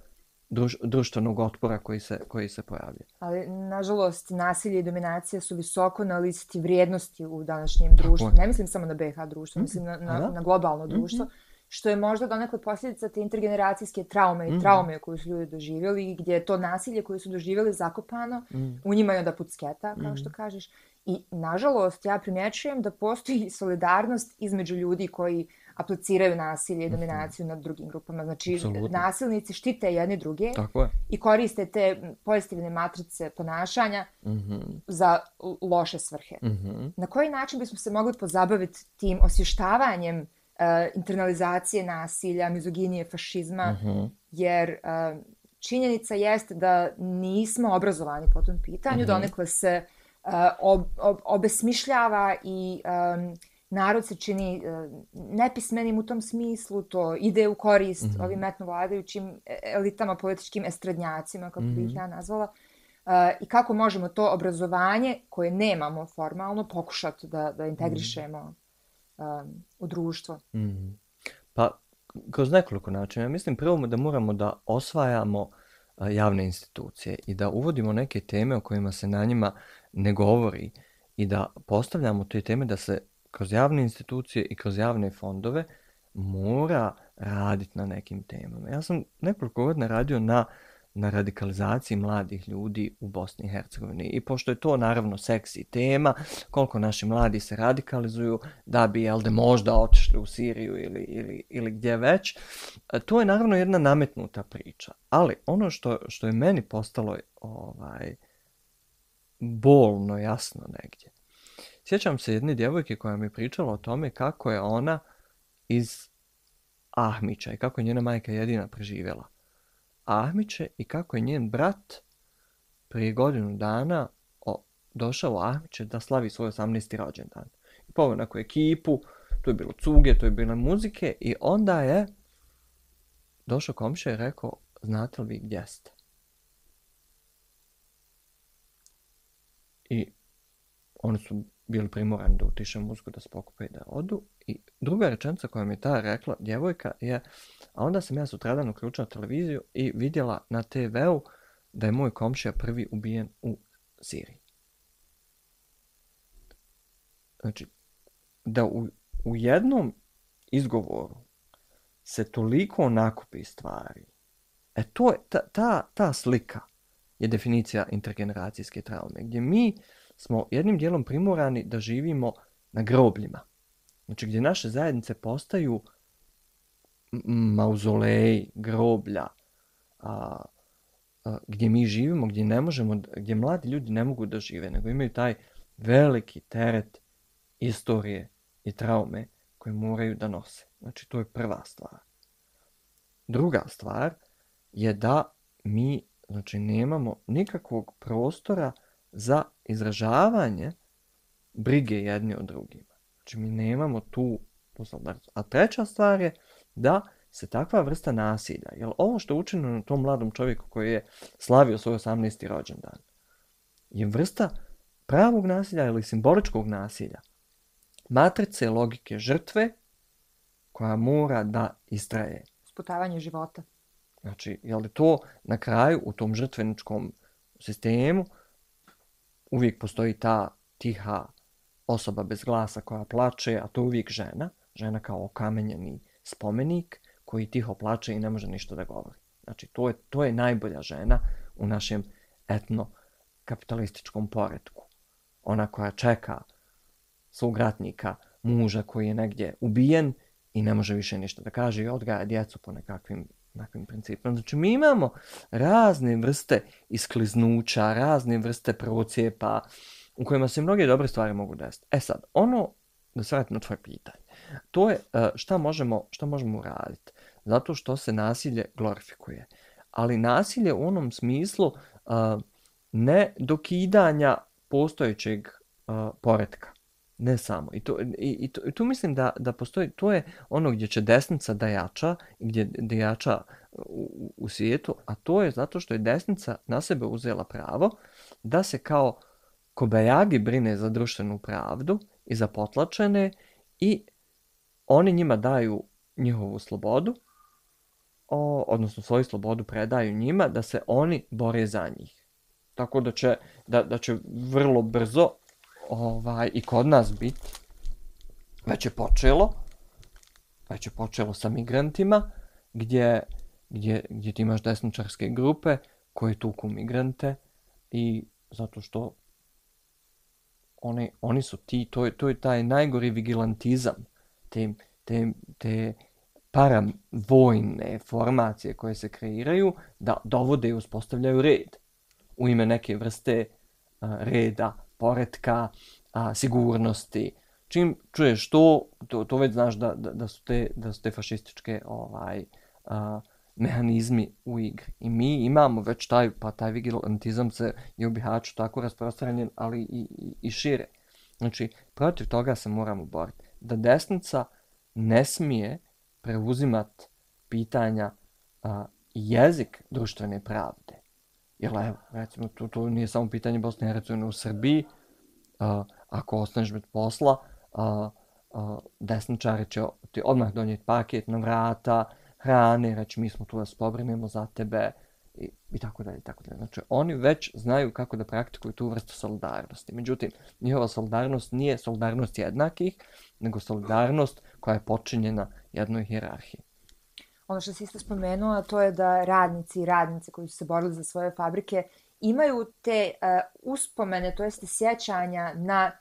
društvenog otpora koji se pojavlja. Ali, nažalost, nasilje i dominacija su visoko na listi vrijednosti u današnjem društvu. Ne mislim samo na BiH društvo, mislim na globalno društvo, što je možda donekle posljedica te intergeneracijske traume i traume koju su ljudi doživjeli, gdje je to nasilje koje su doživjeli zakopano, u njima je onda pucketa, kao što kažeš. I, nažalost, ja primjećujem da postoji solidarnost između ljudi koji apliciraju nasilje i dominaciju nad drugim grupama. Znači, nasilnici štite jedni druge i koriste te pozitivne matrice ponašanja za loše svrhe. Na koji način bismo se mogli pozabaviti tim osvještavanjem internalizacije nasilja, mizoginije, fašizma, jer činjenica jeste da nismo obrazovani po tom pitanju, donekle se obesmišljava i narod se čini nepismenim u tom smislu, to ide u korist ovim etnovladajućim elitama, političkim estradnjacima, kako bih ja nazvala, i kako možemo to obrazovanje, koje nemamo formalno, pokušati da integrišemo u društvo. Pa, kroz nekoliko načina. Mislim prvo da moramo da osvajamo javne institucije i da uvodimo neke teme o kojima se na njima ne govori i da postavljamo te teme da se kroz javne institucije i kroz javne fondove mora raditi na nekim temama. Ja sam nekoliko godina radio na radikalizaciji mladih ljudi u Bosni i Hercegovini. I pošto je to naravno seksi tema, koliko naši mladi se radikalizuju da bi možda otišli u Siriju ili gdje već, to je naravno jedna nametnuta priča. Ali ono što je meni postalo bolno jasno negdje. Sjećam se jedne djevojke koja mi je pričala o tome kako je ona iz Ahmića i kako je njena majka jedina preživjela Ahmiće i kako je njen brat prije godinu dana došao u Ahmiće da slavi svoj 18. rođendan. I poveo neku ekipu, tu je bilo cuge, tu je bilo muzike i onda je došao komšija i rekao, znate li vi gdje ste? I oni su bili primorani da utiše muziku, da se pokupe i da odu. I druga rečenica koja mi je ta rekla, djevojka, je, a onda sam ja sutradan uključila televiziju i vidjela na TV-u da je moj komšija prvi ubijen u Siriji. Znači, da u jednom izgovoru se toliko nakupi stvari. To je, ta slika je definicija intergeneracijske traume, gdje mi smo jednim dijelom primorani da živimo na grobljima. Znači gdje naše zajednice postaju mauzoleji, groblja, gdje mi živimo, gdje ne možemo, gdje mladi ljudi ne mogu da žive, nego imaju taj veliki teret istorije i traume koje moraju da nose. Znači to je prva stvar. Druga stvar je da mi nemamo nikakvog prostora za izražavanje brige jedni od drugima. Znači mi nemamo tu solidarnost. A treća stvar je da se takva vrsta nasilja, jer ovo što je učinjeno na tom mladom čovjeku koji je slavio svoj 18. rođendan, je vrsta pravog nasilja ili simboličkog nasilja. Matrice logike žrtve koja mora da istraje. Sputavanje života. Znači, je li to na kraju u tom žrtveničkom sistemu uvijek postoji ta tiha osoba bez glasa koja plače, a to je uvijek žena. Žena kao okamenjeni spomenik koji tiho plače i ne može ništa da govori. Znači, to je najbolja žena u našem etno-kapitalističkom poretku. Ona koja čeka svog ratnika, muža koji je negdje ubijen i ne može više ništa da kaže i odgaja djecu po nekakvim principima. Znači, mi imamo razne vrste iskliznuća, razne vrste procijepa u kojima se mnoge dobre stvari mogu desiti. Sad, da se vratim na tvoje pitanje, to je šta možemo uraditi. Zato što se nasilje glorifikuje. Ali nasilje u onom smislu ne dokidanja postojećeg poretka. Ne samo. I tu mislim da postoji, to je ono gdje će desnica da jača, gdje jača u svijetu, a to je zato što je desnica na sebe uzela pravo da se kao kobajagi brine za društvenu pravdu i za potlačene i oni njima daju njihovu slobodu odnosno svoju slobodu predaju njima, da se oni bore za njih. Tako da će vrlo brzo i kod nas biti, već je počelo sa migrantima, gdje ti imaš desničarske grupe koje tuku migrante i zato što oni su ti, to je taj najgori vigilantizam, te paravojne formacije koje se kreiraju da dovode i uspostavljaju red u ime neke vrste reda, poretka, sigurnosti. Čim čuješ to već znaš da su te fašističke mehanizmi u igri. I mi imamo već taj vigilantizam je u Bihaću tako rasprostranjen, ali i šire. Znači, protiv toga se moramo boriti. Da desnica ne smije preuzimati pitanja jezik društvene pravde. Jer evo, recimo, to nije samo pitanje Bosne i Hercegovine. U Srbiji, ako ostaneš bez posla, desničari će ti odmah donijeti paket na vrata, hrane, reći mi smo tu da se pobrinemo za tebe i tako dalje, i tako dalje. Znači, oni već znaju kako da praktikuju tu vrstu solidarnosti. Međutim, njihova solidarnost nije solidarnost jednakih, nego solidarnost koja je počinjena jednoj hijerarhiji. Ono što si isto spomenula, to je da radnici i radnice koji su se borili za svoje fabrike imaju te uspomene, to jeste sjećanja na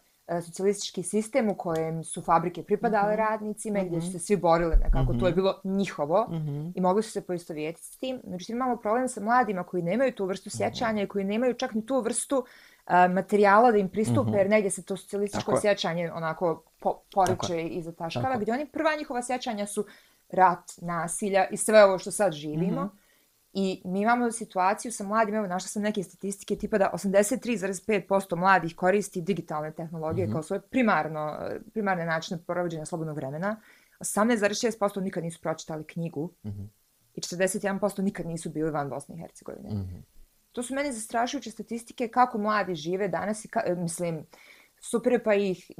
socijalistički sistem u kojem su fabrike pripadale radnicima, gdje su se svi borili nekako, to je bilo njihovo i mogli su se poistovjetiti s tim. Međutim, imamo problem sa mladima koji nemaju tu vrstu sjećanja i koji nemaju čak ni tu vrstu materijala da im pristupe, jer negdje se to socijalističko sjećanje onako poriče i zataškava, gdje oni prva njihova sjećanja su rat, nasilja i sve ovo što sad živimo. I mi imamo situaciju sa mladim, evo našla sam neke statistike tipa da 83,5% mladih koristi digitalne tehnologije kao svoje primarne načine provođenja slobodnog vremena. 18,6% nikad nisu pročitali knjigu i 41% nikad nisu bili van Bosne i Hercegovine. To su meni zastrašujuće statistike kako mladi žive danas i mislim, super pa ih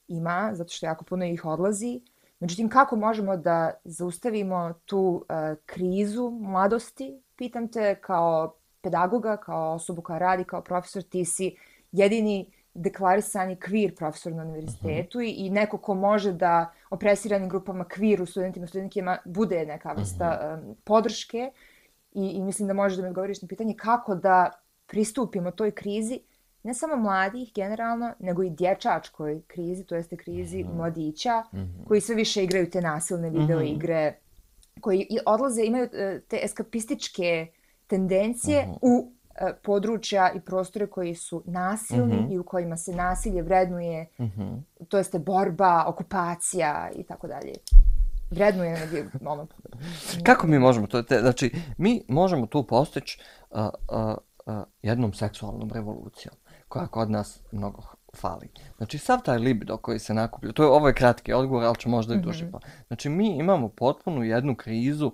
ima, zato što jako puno ih odlazi. Međutim, kako možemo da zaustavimo tu krizu mladosti? Pitam te kao pedagoga, kao osobu koja radi, kao profesor, ti si jedini deklarisani queer profesor na univerzitetu i neko ko može da opresiranim grupama queer, studentima, studentkima bude neka vrsta podrške i mislim da možeš da mi odgovoriš na pitanje kako da pristupimo toj krizi, ne samo mladih generalno, nego i dječačkoj krizi, to jeste krizi mladića, koji sve više igraju te nasilne video igre, koji odlaze, imaju te eskapističke tendencije u područja i prostore koji su nasilni i u kojima se nasilje vrednuje, to jeste borba, okupacija i tako dalje. Vrednuje ono. Kako mi možemo to? Znači, mi možemo tu postići jednom seksualnom revolucijom, koja kod nas mnogo fali. Znači, sav taj libido koji se nakuplja, ovo je kratki odgovor, ali će možda i duže. Znači, mi imamo potpuno jednu krizu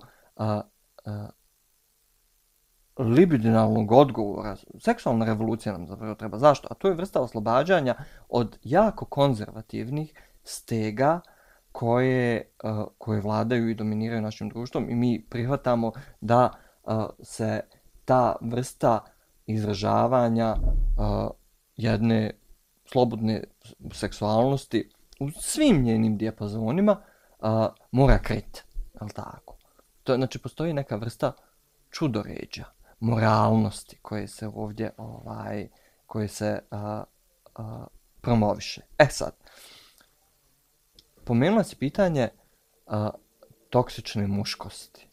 libidinalnog odgovora. Seksualna revolucija nam zapravo treba. Zašto? A to je vrsta oslobađanja od jako konzervativnih stega koje vladaju i dominiraju našim društvom i mi prihvatamo da se ta vrsta izražavanja jedne slobodne seksualnosti u svim njenim dijapazonima mora kriti. Tako? Znači, postoji neka vrsta čudoređa, moralnosti koje se ovdje promoviše. Sad, pomenula si pitanje toksične muškosti.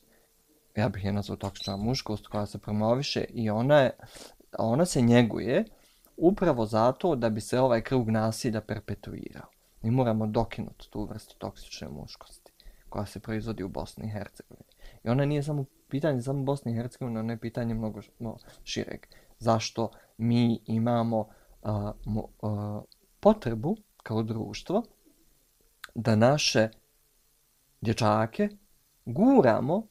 Ja bih je nazvao toksična muškost koja se promoviše i ona se njeguje upravo zato da bi se ovaj krug nasilja perpetuirao. Mi moramo dokinuti tu vrstu toksične muškosti koja se proizvodi u Bosni i Hercegovini. I ona nije samo pitanje samo Bosne i Hercegovine, ono je pitanje mnogo šireg. Zašto mi imamo potrebu kao društvo da naše dječake guramo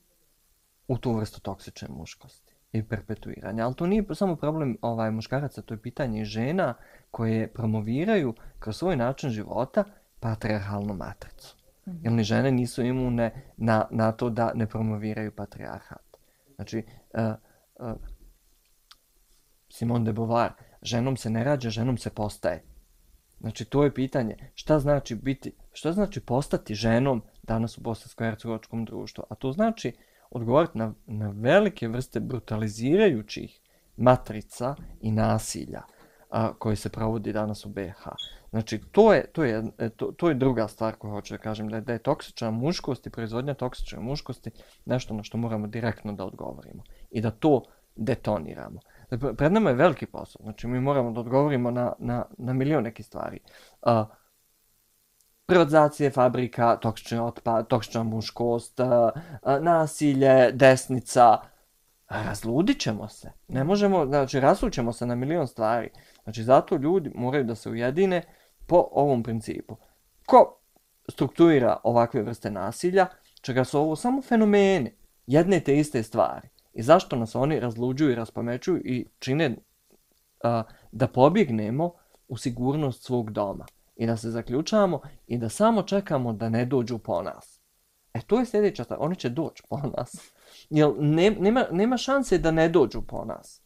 u tu vrstu toksične muškosti i perpetuiranja. Ali to nije samo problem muškaraca, to je pitanje žena koje promoviraju kroz svoj način života patrijarhalnu matricu. Jer ni žene nisu imune na to da ne promoviraju patrijarhat. Znači, Simone de Beauvoir, ženom se ne rađa, ženom se postaje. Znači, to je pitanje. Šta znači postati ženom danas u bosansko-hercegovačkom društvu? A to znači odgovoriti na velike vrste brutalizirajućih matrica i nasilja koji se provodi danas u BiH. Znači, to je druga stvar koju hoću da kažem, da je toksična muškost i proizvodnja toksične muškosti nešto na što moramo direktno da odgovorimo i da to detoniramo. Pred nama je veliki posao, znači mi moramo da odgovorimo na milion nekih stvari. Privatizacije fabrika, toksični otpad, toksična muškost, nasilje, desnica. Razludit ćemo se. Ne možemo, znači rasućemo se na milion stvari. Znači zato ljudi moraju da se ujedine po ovom principu. Ko strukturira ovakve vrste nasilja, čega su ovo samo fenomeni, jedne te iste stvari. I zašto nas oni razluđuju i raspamećuju i čine da pobjegnemo u sigurnost svog doma. I da se zaključamo i da samo čekamo da ne dođu po nas. To je sljedeća stvar. Oni će doći po nas. Jer nema šanse da ne dođu po nas.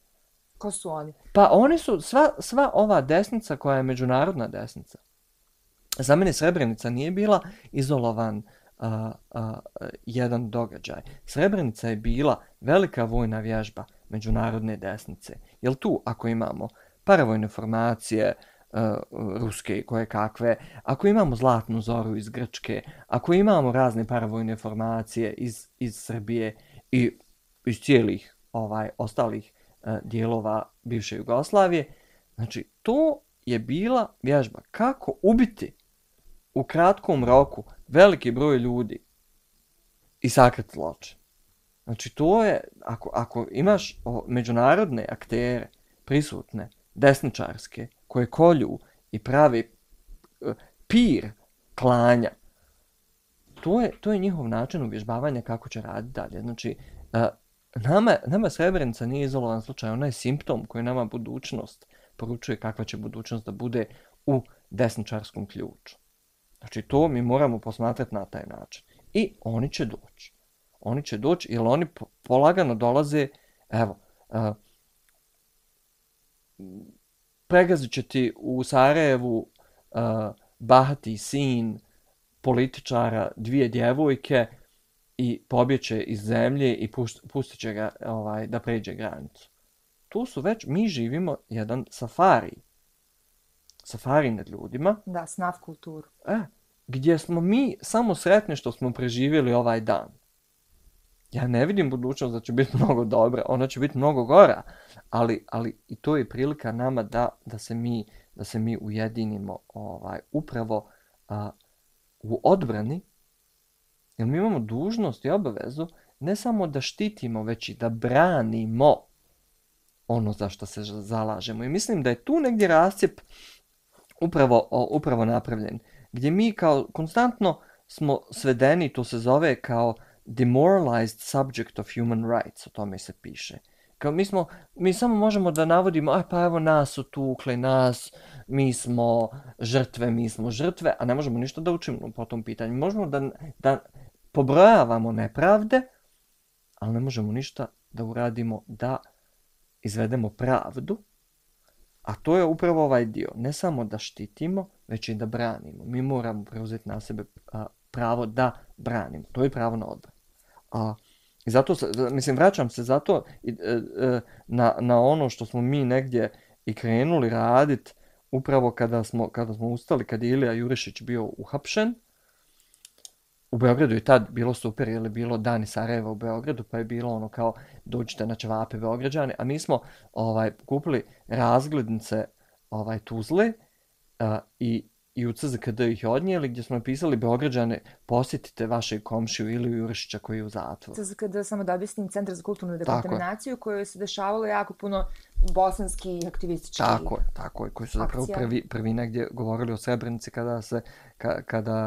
Ko su oni? Pa oni su sva ova desnica koja je međunarodna desnica. Za mene Srebrenica nije bila izolovan jedan događaj. Srebrenica je bila velika vojna vježba međunarodne desnice. Jer tu ako imamo paravojne formacije, ruske i koje kakve, ako imamo Zlatnu zoru iz Grčke, ako imamo razne paravojne formacije iz Srbije i iz cijelih ostalih dijelova bivše Jugoslavije, znači to je bila vježba kako ubiti u kratkom roku veliki broj ljudi i sakriti zločin. Znači to je, ako imaš međunarodne aktere prisutne, desničarske, koje kolju i pravi pir klanja, to je njihov način uvježbavanja kako će raditi dalje. Znači, nama Srebrenica nije izolovan slučaj, ona je simptom koji nama budućnost poručuje kakva će budućnost da bude u desničarskom ključu. Znači, to mi moramo posmatrati na taj način. I oni će doći. Oni će doći jer oni polagano dolaze, evo, pregazit će ti u Sarajevu bahati sin političara, 2 djevojke i pobjeće iz zemlje i pustit će ga da pređe granicu. Tu su već, mi živimo jedan safari. Safari nad ljudima. Da, snaf kulturu. Gdje smo mi samo sretni što smo preživjeli ovaj dan. Ja ne vidim budućnost da će biti mnogo dobra, ona će biti mnogo gora, ali i to je prilika nama da se mi ujedinimo upravo u odbrani, jer mi imamo dužnost i obavezu ne samo da štitimo, već i da branimo ono za što se zalažemo. I mislim da je tu negdje rascjep upravo napravljen, gdje mi kao konstantno smo svedeni, to se zove kao demoralized subject of human rights, o tome se piše. Kao mi samo možemo da navodimo, pa evo nas su tukli, mi smo žrtve, a ne možemo ništa da učimo po tom pitanju. Možemo da pobrojavamo nepravde, ali ne možemo ništa da uradimo da izvedemo pravdu, a to je upravo ovaj dio. Ne samo da štitimo, već i da branimo. Mi moramo preuzeti na sebe pravo da branimo. To je pravo na odbranu. I zato, vraćam se zato na ono što smo mi negdje i krenuli raditi upravo kada smo ustali, kad je Ilija Jurišić bio uhapšen. U Beogradu je tad bilo super, jer je bilo Dani Sarajeva u Beogradu, pa je bilo ono kao dođite na ćevape Beograđane, a mi smo kupili razglednice Tuzle i u CZKD ih odnijeli, gdje smo napisali Beograđane, posjetite vašeg komšiju Iliju Jurišića koji je u zatvoru. CZKD, samo da objasnim, Centar za kulturnu dekontaminaciju, koju se dešavalo jako puno bosanskih aktivističkih akcija. Tako je, koji su zapravo prvi negdje govorili o Srebrenici kada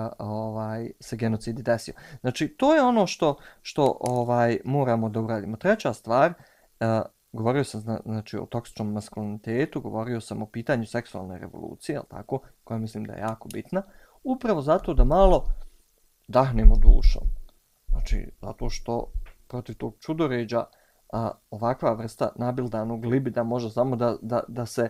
se genocid desio. Znači, to je ono što moramo da uradimo. Treća stvar, govorio sam o toksičnom maskulinitetu, govorio sam o pitanju seksualne revolucije, tako, koja mislim da je jako bitna, upravo zato da malo dahnemo dušom. Znači, zato što protiv tog čudoređa ovakva vrsta nabildanog libida može samo da se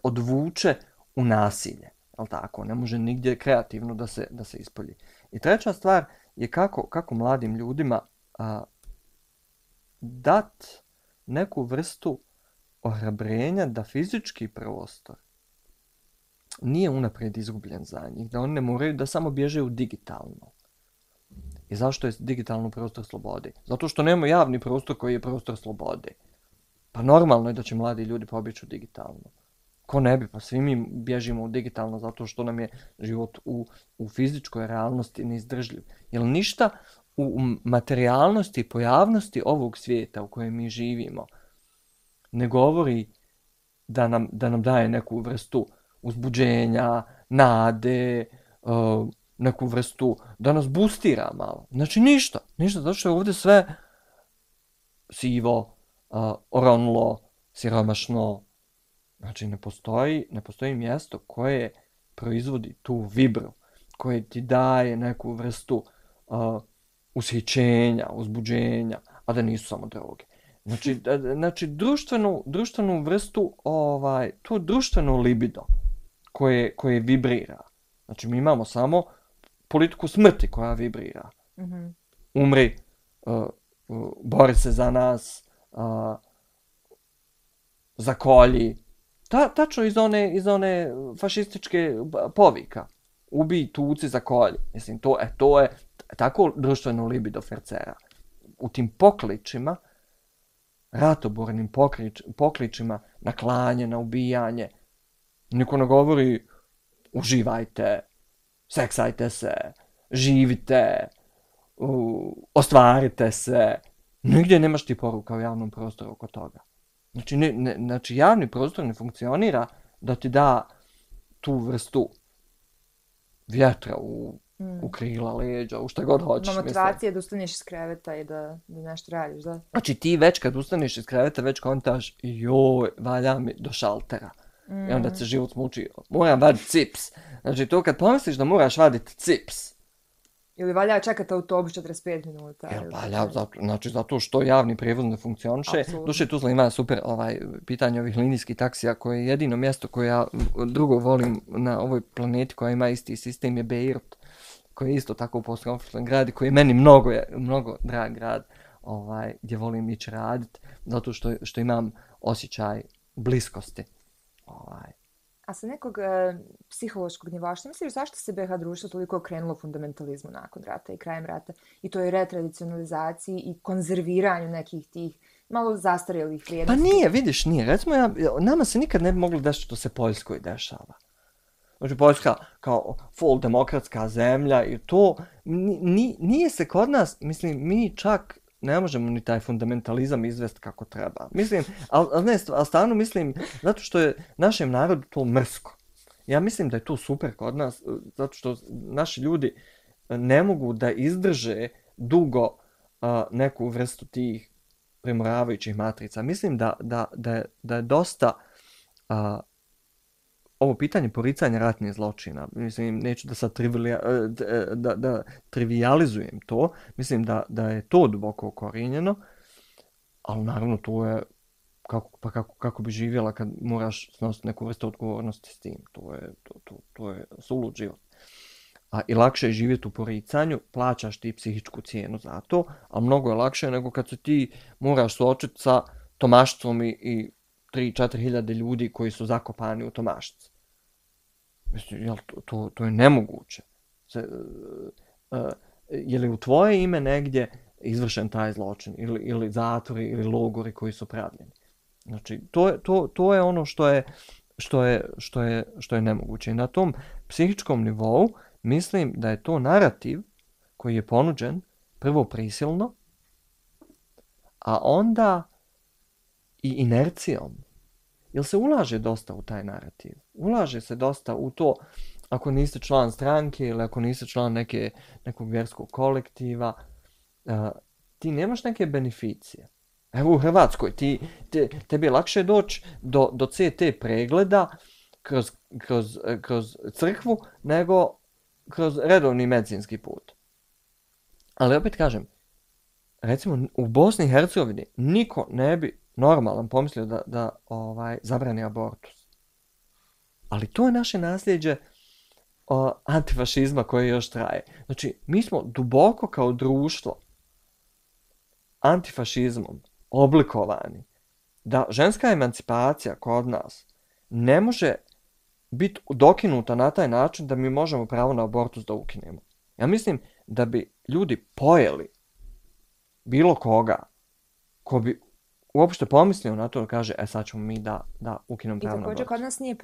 odvuče u nasilje. Jel tako? Ne može nigdje kreativno da se ispolji. I treća stvar je kako mladim ljudima dat neku vrstu ohrabrenja da fizički prostor nije unaprijed izgubljen za njih, da oni ne moraju da samo bježe u digitalno. I zašto je digitalno prostor slobode? Zato što nema javni prostor koji je prostor slobode. Pa normalno je da će mladi ljudi pobjeći u digitalno. Ko ne bi? Pa svi mi bježimo u digitalno zato što nam je život u fizičkoj realnosti neizdržljiv. Jer ništa u materijalnosti i pojavnosti ovog svijeta u kojem mi živimo ne govori da nam daje neku vrstu uzbuđenja, nade, neku vrstu da nas boostira malo. Znači ništa, zato što je ovdje sve sivo, oronlo, siromašno. Znači ne postoji mjesto koje proizvodi tu vibru, koje ti daje neku vrstu ushićenja, uzbuđenja, a da nisu samo droge. Znači društvenu vrstu, to društveno libido koje vibrira. Znači mi imamo samo politiku smrti koja vibrira. Mm-hmm. Umri, bori se za nas, zakolji. Tačno iz one fašističke povika. Ubij, tuci, zakolji. Mislim, to je tako društveno libido fercera. U tim pokličima, ratobornim pokličima na klanje, na ubijanje, niko ne govori uživajte, seksajte se, živite, ostvarite se. Nigdje nemaš ti poruka u javnom prostoru oko toga. Znači javni prostor ne funkcionira da ti da tu vrstu vjetra u krila, leđa, u šta god hoćeš. Motivacija da ustaneš iz kreveta i da nešto radiš, da? Znači ti već kad ustaneš iz kreveta, već kontaš, joj, valja mi do šaltera. I onda se život smuči, moram vaditi cips. Znači to kad pomisliš da moraš vaditi cips. Ili valja čekati autobus 45 minuta. Valja, zato što javni prijevoz ne funkcioniše. Duše Tuzla ima super pitanje ovih linijskih taksija, koje je jedino mjesto koje ja drugo volim na ovoj planeti koja ima isti sistem je Beirut, koji je isto tako post-konfliktan grad i koji je meni mnogo drag grad gdje volim ići raditi, zato što imam osjećaj bliskosti. A sa nekog psihološkog nivoa, što misliš zašto se BiH društvo toliko okrenulo fundamentalizmu nakon rata i krajem rata i toj retradicionalizaciji i konzerviranju nekih tih malo zastarjelih vrijednosti? Pa nije. Recimo, nama se nikad ne bi moglo desiti što se Poljskoj dešava. Znači, Poljska kao full demokratska zemlja i to nije se kod nas, mislim, mi čak ne možemo ni taj fundamentalizam izvesti kako treba. Mislim, ali stvarno mislim, zato što je našem narodu to mrsko. Ja mislim da je to super kod nas, zato što naši ljudi ne mogu da izdrže dugo neku vrstu tih premoravajućih matrica. Mislim da je dosta ovo pitanje poricanja ratnih zločina. Mislim, neću da sad da trivializujem to. Mislim da je to duboko ukorijenjeno, ali naravno to je kako bi živjela kad moraš snositi neku vrstu odgovornosti s tim. To je sulud život. I lakše je živjeti u poricanju, plaćaš ti psihičku cijenu za to, a mnogo je lakše nego kad se ti moraš suočiti sa Tomašcom i 3-4 hiljade ljudi koji su zakopani u Tomašci. Mislim, to je nemoguće. Je li u tvoje ime negdje izvršen taj zločin? Ili zatvori, ili logori koji su pravljeni? Znači, to je ono što je nemoguće. I na tom psihičkom nivou mislim da je to narativ koji je ponuđen prvo prisilno, a onda i inercijom. Jer se ulaže dosta u taj narativ. Ulaže se dosta u to ako niste član stranke ili ako niste član nekog vjerskog kolektiva, ti nemaš neke beneficije. Evo u Hrvatskoj, tebi je lakše doći do CT pregleda kroz crkvu nego kroz redovni medicinski put. Ali opet kažem, recimo u Bosni i Hercegovini niko ne bi normalan pomislio da zabrani abortus. Ali to je naše nasljeđe antifašizma koje još traje. Znači, mi smo duboko kao društvo antifašizmom oblikovani da ženska emancipacija kod nas ne može biti dokinuta na taj način da mi možemo pravo na abortus da ukinemo. Ja mislim da bi ljudi pojeli bilo koga ko bi uopšte pomislio na to da kaže sad ćemo mi da ukinemo pravo na abortus. I također kod nas nije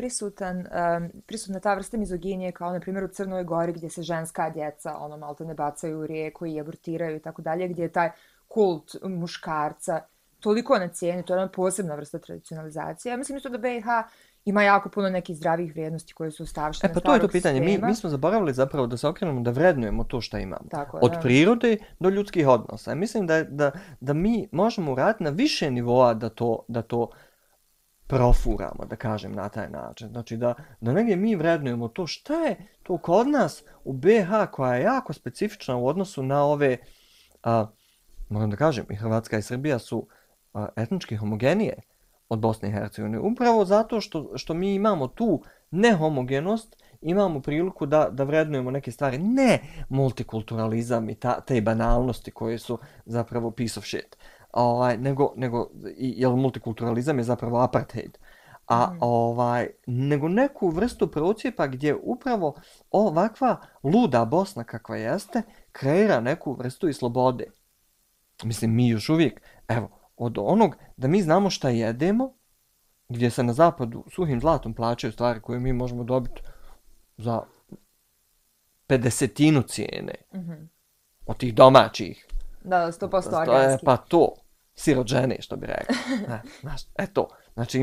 prisutna ta vrsta mizoginije kao na primjer u Crnoj Gori gdje se ženska djeca malte ne bacaju u rijeku i abortiraju i tako dalje, gdje je taj kult muškarca toliko na cijeni, to je jedna posebna vrsta tradicionalizacije. Ja mislim isto da BiH ima jako puno nekih zdravih vrijednosti koje su ostavštene pa to je to pitanje. Mi smo zaboravili zapravo da se okrenemo da vrednujemo to što imamo. Tako, od prirode do ljudskih odnosa. Ja mislim da mi možemo uraditi na više nivoa da to profuramo, da kažem na taj način. Znači da negdje mi vrednujemo to šta je to kod nas u BiH koja je jako specifična u odnosu na ove, moram da kažem, i Hrvatska i Srbija su etnički homogenije od Bosne i Hercegovine. Upravo zato što mi imamo tu nehomogenost, imamo priliku da vrednujemo neke stvari. Ne multikulturalizam i te banalnosti koje su zapravo piece of shit. Jer multikulturalizam je zapravo apartheid. Nego neku vrstu procijepa gdje upravo ovakva luda Bosna kakva jeste kreira neku vrstu i slobode. Mislim, mi još uvijek, evo, od onog da mi znamo šta jedemo, gdje se na zapadu suhim zlatom plaćaju stvari koje mi možemo dobiti za 50% cijene od tih domaćih. Da, 100% organski. Pa to, sirođene, što bi rekao. To. Znači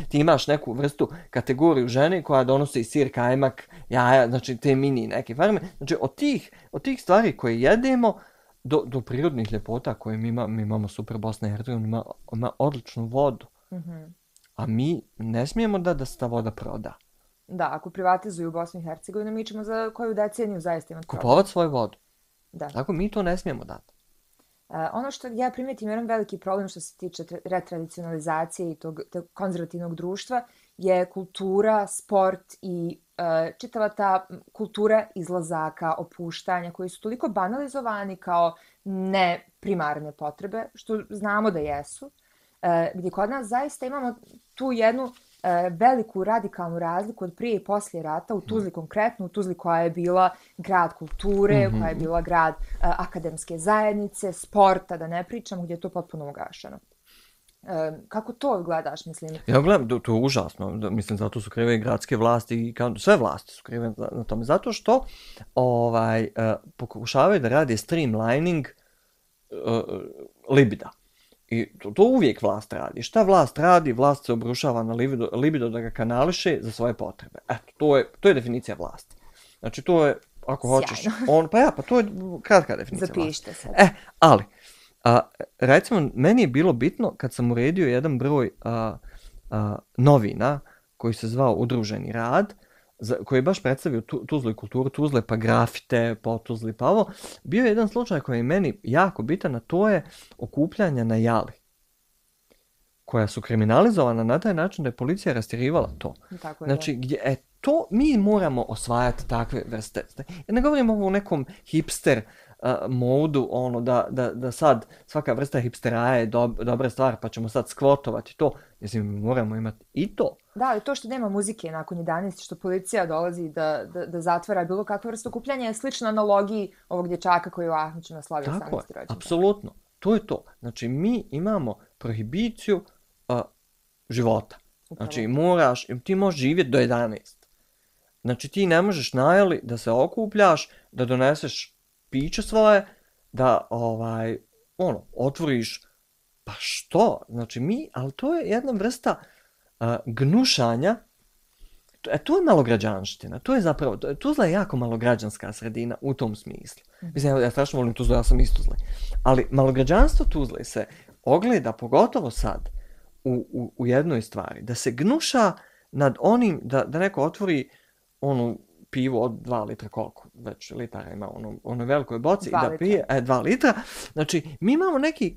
ti imaš neku vrstu kategoriju žene koja donosi sir, kajmak, jaja, znači te mini neke farme. Znači od tih stvari koje jedemo do prirodnih ljepota koje mi imamo super Bosna i Hercegovina, ima odličnu vodu. A mi ne smijemo da se ta voda proda. Da, ako privatizuju Bosnu i Hercegovinu, mi ćemo za koju deceniju zaista imati problem. Kupovat svoju vodu. Da. Tako mi to ne smijemo dati. Ono što ja primijetim jedan veliki problem što se tiče retradicionalizacije i tog konzervativnog društva je kultura, sport i čitava ta kultura izlazaka, opuštanja koji su toliko banalizovani kao ne primarne potrebe, što znamo da jesu, gdje kod nas zaista imamo tu jednu veliku radikalnu razliku od prije i poslije rata, u Tuzli konkretno, u Tuzli koja je bila grad kulture, koja je bila grad akademske zajednice, sporta, da ne pričam, gdje je to potpuno ugašeno. Kako to gledaš, mislim? Ja gledam, to je užasno. Mislim, zato su krive i gradske vlasti i sve vlasti su krive na tome. Zato što pokušavaju da rade streamlining libida. I to uvijek vlast radi. Šta vlast radi? Vlast se obrušava na libido da ga kanališe za svoje potrebe. Eto, to je definicija vlasti. Znači, to je, ako hoćeš, pa to je kratka definicija vlasti. Zapišite se. Ali, recimo, meni je bilo bitno kad sam uredio jedan broj novina koji se zvao Udruženi rad, koji je baš predstavio Tuzlu i kulturu Tuzle, pa grafite, po Tuzli, pa ovo. Bio je jedan slučaj koji je meni jako bitan, a to je okupljanja na jali, koja su kriminalizovana na taj način da je policija rastjerivala to. Znači, to mi moramo osvajati takve vrste. Ja ne govorim ovo u nekom hipster modu, da sad svaka vrsta hipsteraja je dobra stvar, pa ćemo sad skvotovati to. Mislim, moramo imati i to. Da, ali to što nema muzike nakon 11, što policija dolazi da zatvara bilo kakva vrsta okupljanja je slično analogiji ovog dječaka koji je u Ahmiću naslavio 18. rođendan. Tako je, apsolutno. To je to. Znači, mi imamo prohibiciju života. Znači, ti možeš živjeti do 11. Znači, ti ne možeš najeli da se okupljaš, da doneseš piće svoje, da otvoriš, pa što? Znači, ali to je jedna vrsta gnušanja, to je malograđanština, to je zapravo, Tuzla je jako malograđanska sredina u tom smislu. Mislim, ja strašno volim Tuzlu, ja sam iz Tuzle. Ali malograđanstvo Tuzle se ogleda, pogotovo sad, u jednoj stvari, da se gnuša nad onim, da neko otvori pivo od 2 litra, koliko već litara ima ono velikoj boci i da litra. pije 2 litra. Znači, mi imamo neki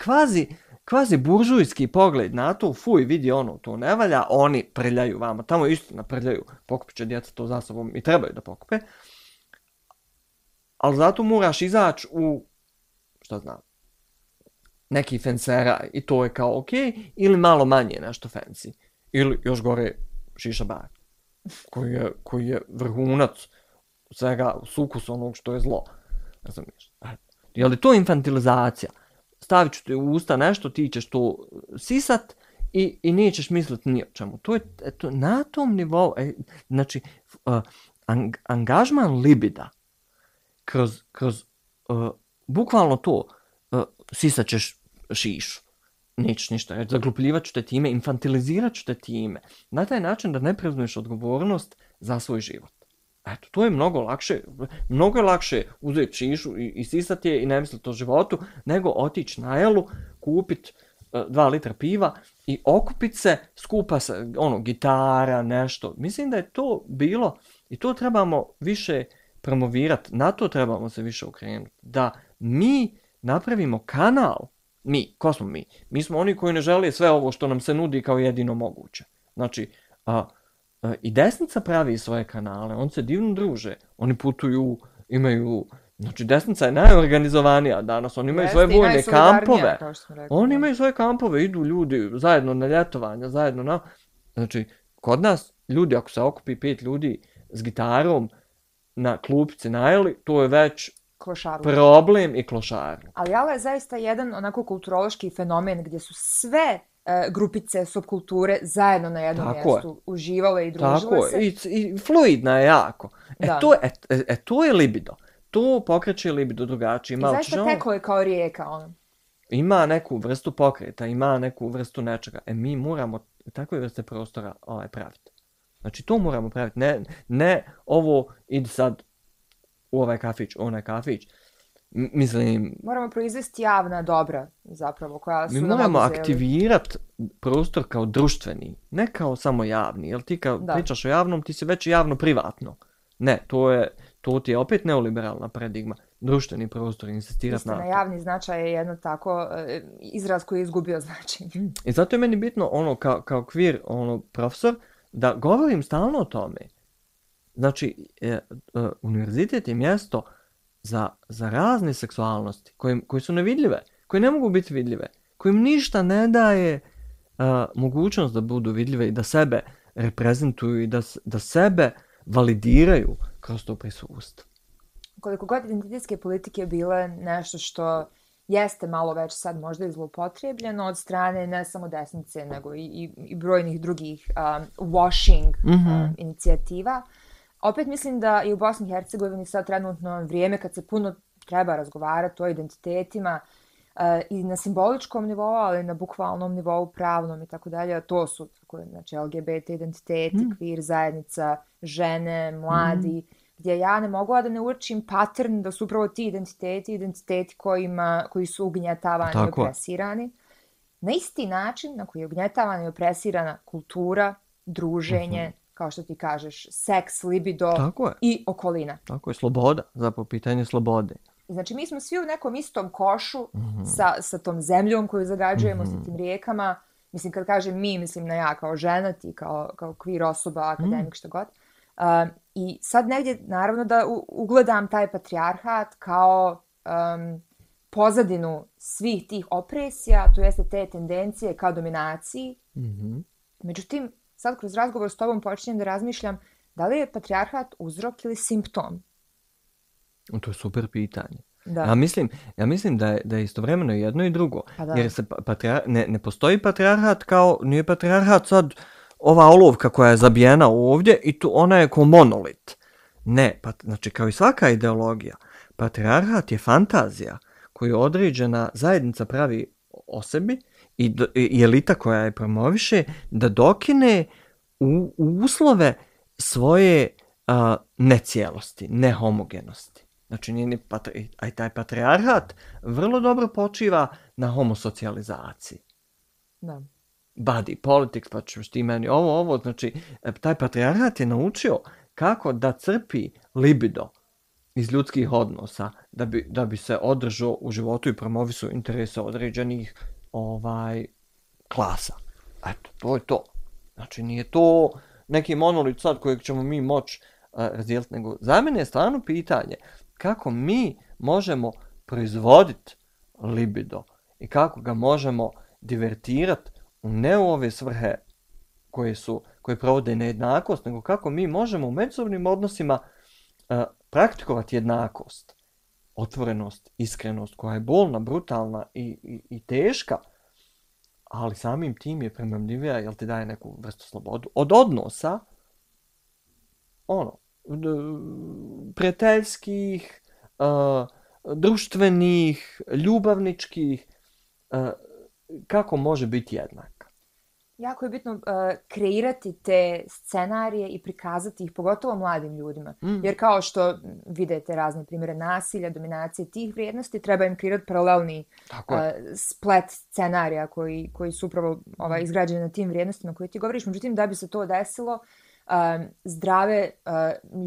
kvazi buržujski pogled na to, fuj, vidi to ne valja, oni prljaju vama, tamo istina prljaju, pokupit će djeca to za sobom i trebaju da pokupe, ali zato moraš izaći u, šta znam, neki fensera i to je kao ok, ili malo manje nešto fancy, ili još gore šiša bar, koji je vrhunac svega sukus onog što je zlo. Ne znam ništa. Je li to infantilizacija? Stavit ću te u usta nešto, ti ćeš to sisat i nećeš misliti ni o čemu. To je na tom nivou, znači, angažman libida kroz bukvalno to, sisat ćeš šišu, nećeš ništa reći, zaglupljivat ću te time, infantilizirat ću te time, na taj način da ne preuzmeš odgovornost za svoj život. Eto, to je mnogo je lakše uzeti šišu i sisati je i ne misliti o životu, nego otići na jelu, kupiti 2 litra piva i okupiti se, skupa se, gitara, nešto. Mislim da je to bilo, i to trebamo više promovirati, na to trebamo se više okrenuti, da mi napravimo kanal. Ko smo mi? Mi smo oni koji ne žele sve ovo što nam se nudi kao jedino moguće. Znači, i desnica pravi svoje kanale, oni se divno druže, oni putuju, imaju, znači desnica je najorganizovanija danas, oni imaju svoje vojne kampove, oni imaju svoje kampove, idu ljudi zajedno na ljetovanja, zajedno znači, kod nas ljudi, ako se okupi 5 ljudi s gitarom na klupici najeli, to je već problem i klošarluk. Ali jala je zaista jedan onako kulturološki fenomen gdje su sve grupice subkulture zajedno na jednom mjestu uživale i družile se. I fluidna je jako. To je libido. To pokreće libido drugačije. I zaista teklo je kao rijeka. Ima neku vrstu pokreta, ima neku vrstu nečega. Mi moramo takve vrste prostora praviti. Znači to moramo praviti. Ne ovo idi sad u ovaj kafić, onaj kafić. Mislim, moramo proizvesti javna dobra, zapravo, koja su mi moramo aktivirati prostor kao društveni, ne kao samo javni, jer ti kad pričaš o javnom, ti si već javno-privatno. Ne, to ti je opet neoliberalna paradigma. Društveni prostor, insistirati na to. Javni značaj je jedno tako izraz koji je izgubio značenje. I zato je meni bitno kao queer profesor da govorim stalno o tome. Znači, univerzitet je mjesto za razne seksualnosti koje su nevidljive, koje ne mogu biti vidljive, kojim ništa ne daje mogućnost da budu vidljive i da sebe reprezentuju i da sebe validiraju kroz to prisustvo. Koliko god identitetske politike bile nešto što jeste malo već sad možda i zloupotrijebljeno od strane ne samo desnice, nego i brojnih drugih washing inicijativa, opet mislim da i u Bosni i Hercegovini sad trenutno vrijeme kad se puno treba razgovarati o identitetima i na simboličkom nivou, ali na bukvalnom nivou, pravnom i tako dalje, to su znači, LGBT identiteti, queer zajednica, žene, mladi, gdje ja ne mogu da ne uočim pattern da su upravo ti identiteti koji su ugnjetavani i opresirani. Na isti način na koji je ugnjetavana i opresirana kultura, druženje, kao što ti kažeš, seks, libido i okolina. Tako je, sloboda, zapravo pitanje slobode. Znači, mi smo svi u nekom istom košu sa tom zemljom koju zagađujemo, sa tim rijekama. Mislim, kad kažem mi, mislim na ja kao žena, ti kao queer osoba, akademik, što god. I sad negdje, naravno, da ugledam taj patrijarhat kao pozadinu svih tih opresija, to jeste te tendencije kao dominaciji. Međutim, sad kroz razgovor s tobom počinjem da razmišljam da li je patrijarhat uzrok ili simptom? To je super pitanje. Ja mislim da je istovremeno jedno i drugo. Jer se ne postoji patrijarhat kao, nije patrijarhat sad ova olovka koja je zabijena ovdje i tu ona je kao monolit. Ne, znači kao i svaka ideologija, patrijarhat je fantazija koju određena zajednica pravi o sebi i elita koja je promoviše da dokine u uslove svoje necijelosti, nehomogenosti. Znači, a taj patrijarhat vrlo dobro počiva na homosocijalizaciji. Da. Body politics, pa ćeš ti meni ovo, znači, taj patrijarhat je naučio kako da crpi libido iz ljudskih odnosa da bi se održao u životu i promovisao interese određenih klasa. Eto, to je to. Znači, nije to neki monolit sad kojeg ćemo mi moći razdijeliti, nego za mene je stvarno pitanje kako mi možemo proizvoditi libido i kako ga možemo divertirati ne u ove svrhe koje provode nejednakost, nego kako mi možemo u međusobnim odnosima praktikovati jednakost, otvorenost, iskrenost koja je bolna, brutalna i teška, ali samim tim je premamljivija jer ti daje neku vrstu slobodu. Od odnosa, prijateljskih, društvenih, ljubavničkih, kako može biti jednak. Jako je bitno kreirati te scenarije i prikazati ih, pogotovo mladim ljudima. Jer kao što vidite razne primjere nasilja, dominacije tih vrijednosti, treba im kreirati paralelni splet scenarija koji su upravo izgrađeni na tim vrijednostima koje ti govoriš. Međutim, da bi se to desilo, zdrave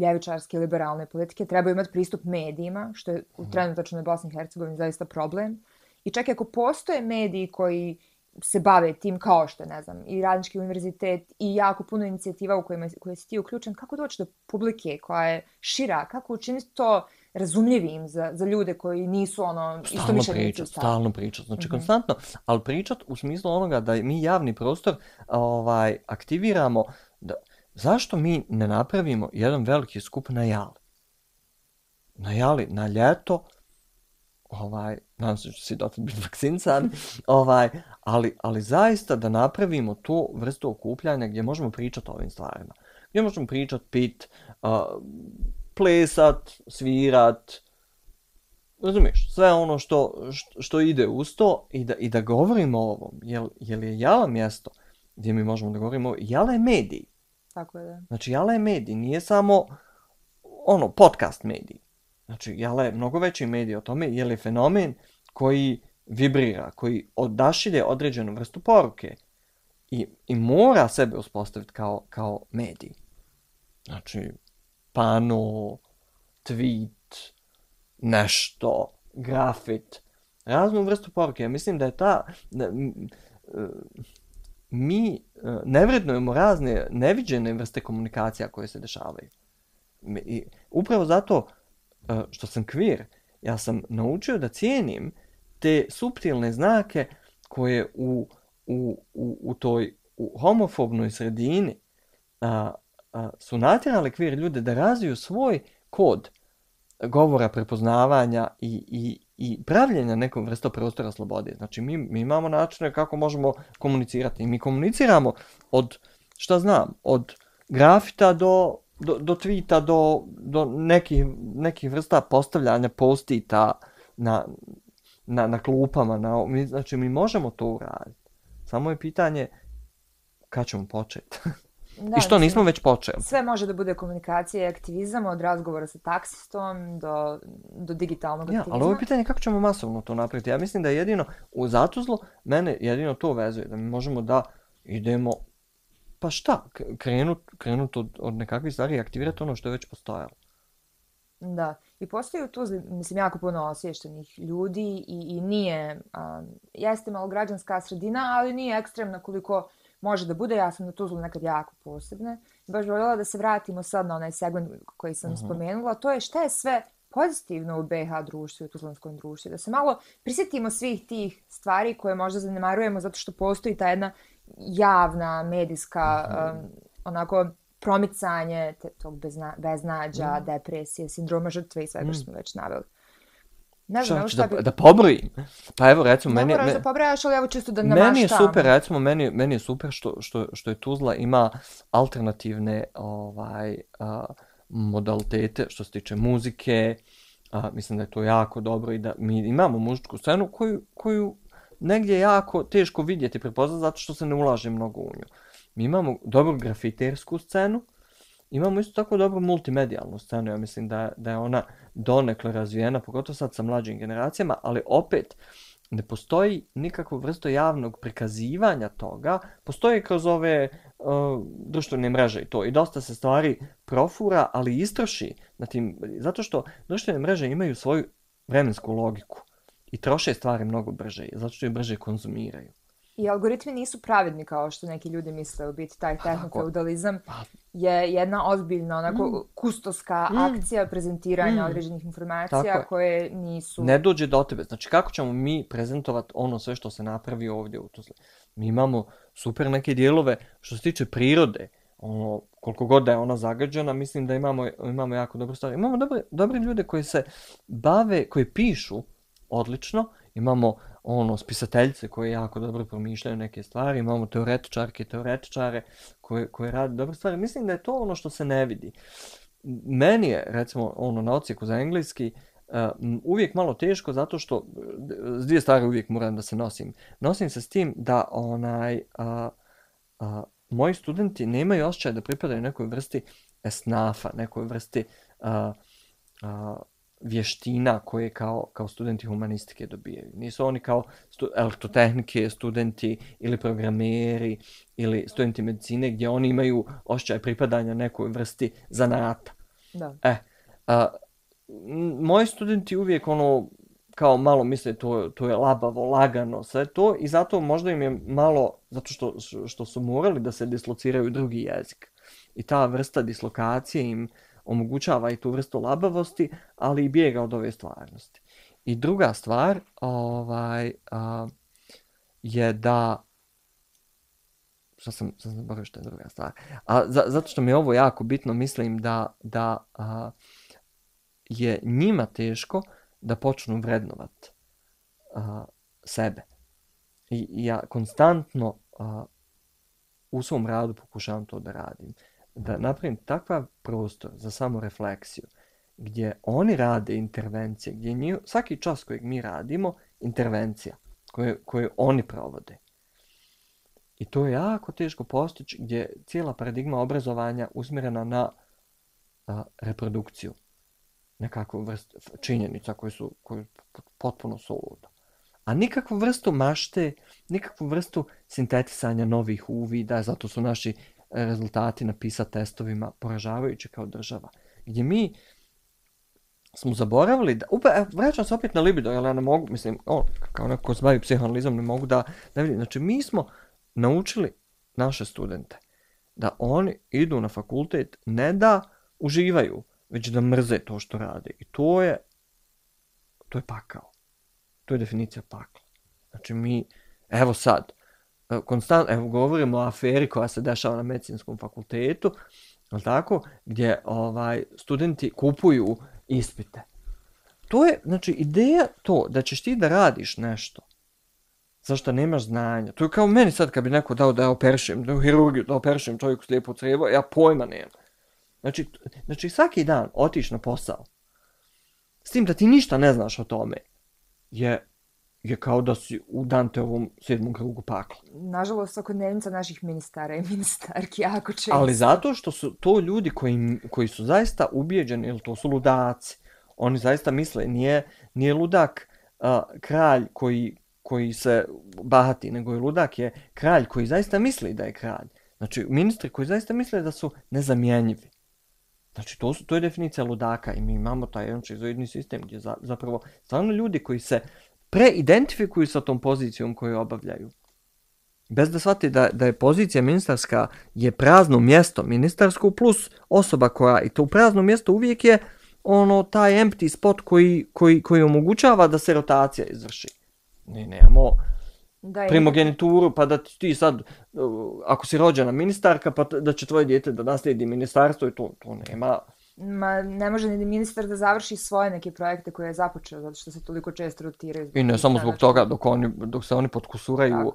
ljevičarske liberalne politike trebaju imati pristup medijima, što je u trenutačnoj Bosni i Hercegovini zaista problem. I čak i ako postoje mediji koji se bave tim kao što je, ne znam, i Radnički univerzitet i jako puno inicijativa u koje si ti uključen, kako doći do publike koja je šira, kako učiniti to razumljivim za ljude koji nisu istomišljenici. Stalno pričat, znači konstantno, ali pričat u smislu onoga da mi javni prostor aktiviramo. Zašto mi ne napravimo jedan veliki skup na Jali? Na Jali, na ljeto, nadam se da će si dotad biti vakcincan, ali zaista da napravimo tu vrstu okupljanja gdje možemo pričati o ovim stvarima. Gdje možemo pričati, pit, plesat, svirat, razumiješ, sve ono što ide uz to i da govorimo o ovom. Jer je Jala mjesto gdje mi možemo da govorimo, Jala je medij. Tako je, da. Znači, Jala je medij, nije samo podcast medij. Znači, Jala je mnogo veći medij o tome, jer je fenomen koji vibrira, koji odašilje određenu vrstu poruke i mora sebe uspostaviti kao medij. Znači, pano, tweet, nešto, grafit, raznu vrstu poruke. Ja mislim da je mi ne vrednujemo razne neviđene vrste komunikacija koje se dešavaju. I upravo zato što sam queer, ja sam naučio da cijenim te suptilne znake koje u toj homofobnoj sredini su natjerali queer ljude da razviju svoj kod govora, prepoznavanja i pravljenja nekom vrstu prostora slobode. Znači, mi imamo načine kako možemo komunicirati. I mi komuniciramo od grafita do tweeta, do nekih vrsta postavljanja postita na klupama. Znači, mi možemo to uraditi. Samo je pitanje kad ćemo početi. I što nismo već počeli. Sve može da bude komunikacija i aktivizam, od razgovora sa taksistom do digitalnog aktivizma. Ali ovo je pitanje kako ćemo masovno to napraviti. Ja mislim da jedino u Zatuzlu mene jedino to vezuje, da mi možemo da idemo, pa šta, krenut od nekakvih stvari i aktivirati ono što je već postojalo. Da, i postoji u Tuzli, mislim, jako puno osviještenih ljudi i nije, jeste malo građanska sredina, ali nije ekstremna koliko može da bude. Ja sam na Tuzlu nekad jako posebna. Baš voljela da se vratimo sad na onaj segment koji sam spomenula. To je šta je sve pozitivno u BiH društvu i u tuzlanskom društvu. Da se malo prisjetimo svih tih stvari koje možda zanemarujemo zato što postoji ta jedna javna, medijska, onako promicanje tog beznađa, depresije, sindroma žrtve i svega što smo već naveli. Ne znam, da pobrojim. Pa evo, recimo, ne moraš da pobrajaš, ali evo čisto da namaštamo. Meni je super, recimo, meni je super što je Tuzla ima alternativne modalitete što se tiče muzike. Mislim da je to jako dobro i da mi imamo muzičku scenu koju negdje je jako teško vidjeti i prepoznati zato što se ne ulaže mnogo u nju. Mi imamo dobru grafitersku scenu, imamo isto tako dobru multimedijalnu scenu, ja mislim da je ona donekle razvijena, pogotovo sad sa mlađim generacijama, ali opet ne postoji nikakvu vrstu javnog prikazivanja toga, postoji kroz ove društvene mreže i to. I dosta se stvari profura, ali istroši na tim, zato što društvene mreže imaju svoju vremensku logiku i troše stvari mnogo brže, zato što je brže konzumiraju. I algoritmi nisu pravedni kao što neki ljudi misle, u biti taj tehnofeudalizam je jedna ozbiljna onako kustoska akcija prezentiranja određenih informacija koje nisu... Ne dođe do tebe. Znači kako ćemo mi prezentovati ono sve što se napravi ovdje u Tuzli? Mi imamo super neke dijelove što se tiče prirode. Ono, koliko god da je ona zagađena, mislim da imamo jako dobre stvari. Imamo dobre ljude koji se bave, koji pišu odlično. Imamo spisateljice koje jako dobro promišljaju neke stvari, imamo teoretičare koje rade dobre stvari. Mislim da je to ono što se ne vidi. Meni je, recimo, na odsjeku za engleski uvijek malo teško zato što s dvije stvari uvijek moram da se nosim. Nosim se s tim da moji studenti nemaju osjećaj da pripadaju nekoj vrsti esnafa, nekoj vrsti vještina koje kao studenti humanistike dobijaju. Nisu oni kao elektrotehnike, studenti ili programeri ili studenti medicine gdje oni imaju osjećaj pripadanja nekoj vrsti zanata. Da. Moji studenti uvijek kao malo misle to je labavo, lagano, sve to i zato možda im je malo, zato što su morali da se dislociraju drugi jezik. I ta vrsta dislokacije im omogućava i tu vrstu labavosti, ali i bijega od ove stvarnosti. I druga stvar je da... Što sam zaboravio što je druga stvar? Zato što mi je ovo jako bitno, mislim da je njima teško da počnu vrednovat sebe. I ja konstantno u svom radu pokušavam to da radim. Da napravim takav prostor za samorefleksiju gdje oni rade intervencije, gdje svaki čas kojeg mi radimo, intervencija koju oni provode. I to je jako teško postići gdje je cijela paradigma obrazovanja usmjerena na reprodukciju nekakvu vrstu činjenica koje su potpuno suludo. A nikakvu vrstu mašte, nikakvu vrstu sintetisanja novih uvida, zato su naši rezultati na PISA testovima poražavajući kao država. Gdje mi smo zaboravili da... vraćam se opet na libido, jer ja ne mogu, mislim, kao neko ko se bavi psihoanalizom, ne mogu da vidim. Znači, mi smo naučili naše studente da oni idu na fakultet ne da uživaju, već da mrze to što rade. I to je pakao. To je definicija pakla. Znači, mi, evo sad, konstantno, govorimo o aferi koja se dešava na medicinskom fakultetu, tako, gdje studenti kupuju ispite. To je, znači, ideja to da ćeš ti da radiš nešto zašto nemaš znanja. To je kao meni sad kad bi neko dao da ja operišem, da u hirurgiju, da operišem čovjeku slijepo crijevo, ja pojma nemam. Znači, svaki dan otiš na posao, s tim da ti ništa ne znaš o tome, je kao da si u Danteovom 7. krugu pakla. Nažalost, svakodnevnica naših ministara i ministarki jako često. Ali zato što su to ljudi koji su zaista ubijeđeni, ili to su ludaci. Oni zaista misle, nije ludak kralj koji se bahati, nego je ludak je kralj koji zaista misli da je kralj. Znači, ministri koji zaista misle da su nezamjenjivi. Znači, to je definicija ludaka i mi imamo taj jedan šizoidni sistem gdje zapravo stvarno ljudi koji se preidentifikuju sa tom pozicijom koju obavljaju. Bez da shvati da je pozicija ministarska je prazno mjesto ministarsko plus osoba koja, i to prazno mjesto uvijek je taj empty spot koji omogućava da se rotacija izvrši. Nemamo primogenituru pa da ti sad, ako si rođena ministarka, pa da će tvoje dijete da naslijedi ministarstvo i to nema. Ma ne može ni ministar da završi svoje neke projekte koje je započeo, zato što se toliko često rotiraju. I ne samo zbog toga, dok se oni potkusuraju,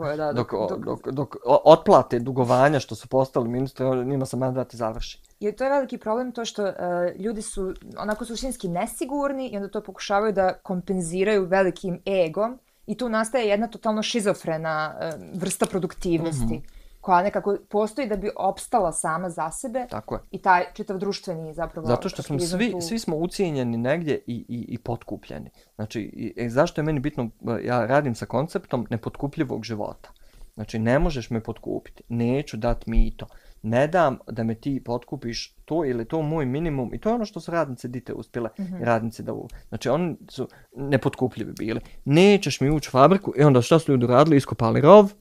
dok otplate dugovanja što su postali ministri, njima se mandat i završi. I to je veliki problem, to što ljudi su onako suštinski nesigurni i onda to pokušavaju da kompenziraju velikim egom i tu nastaje jedna totalno šizofrena vrsta produktivnosti. koja nekako postoji da bi opstala sama za sebe. Tako je. I taj čitav društveni zapravo... Zato što smo svi smo ucijenjeni negdje i potkupljeni. Znači, zašto je meni bitno, ja radim sa konceptom nepotkupljivog života. Znači, ne možeš me potkupiti, neću dati mito, ne dam da me ti potkupiš to ili to moj minimum. I to je ono što su radnice dite uspjele, radnice da znači oni su nepotkupljivi bili. Nećeš mi ući u fabriku i onda šta su ljudi radili, iskopali rov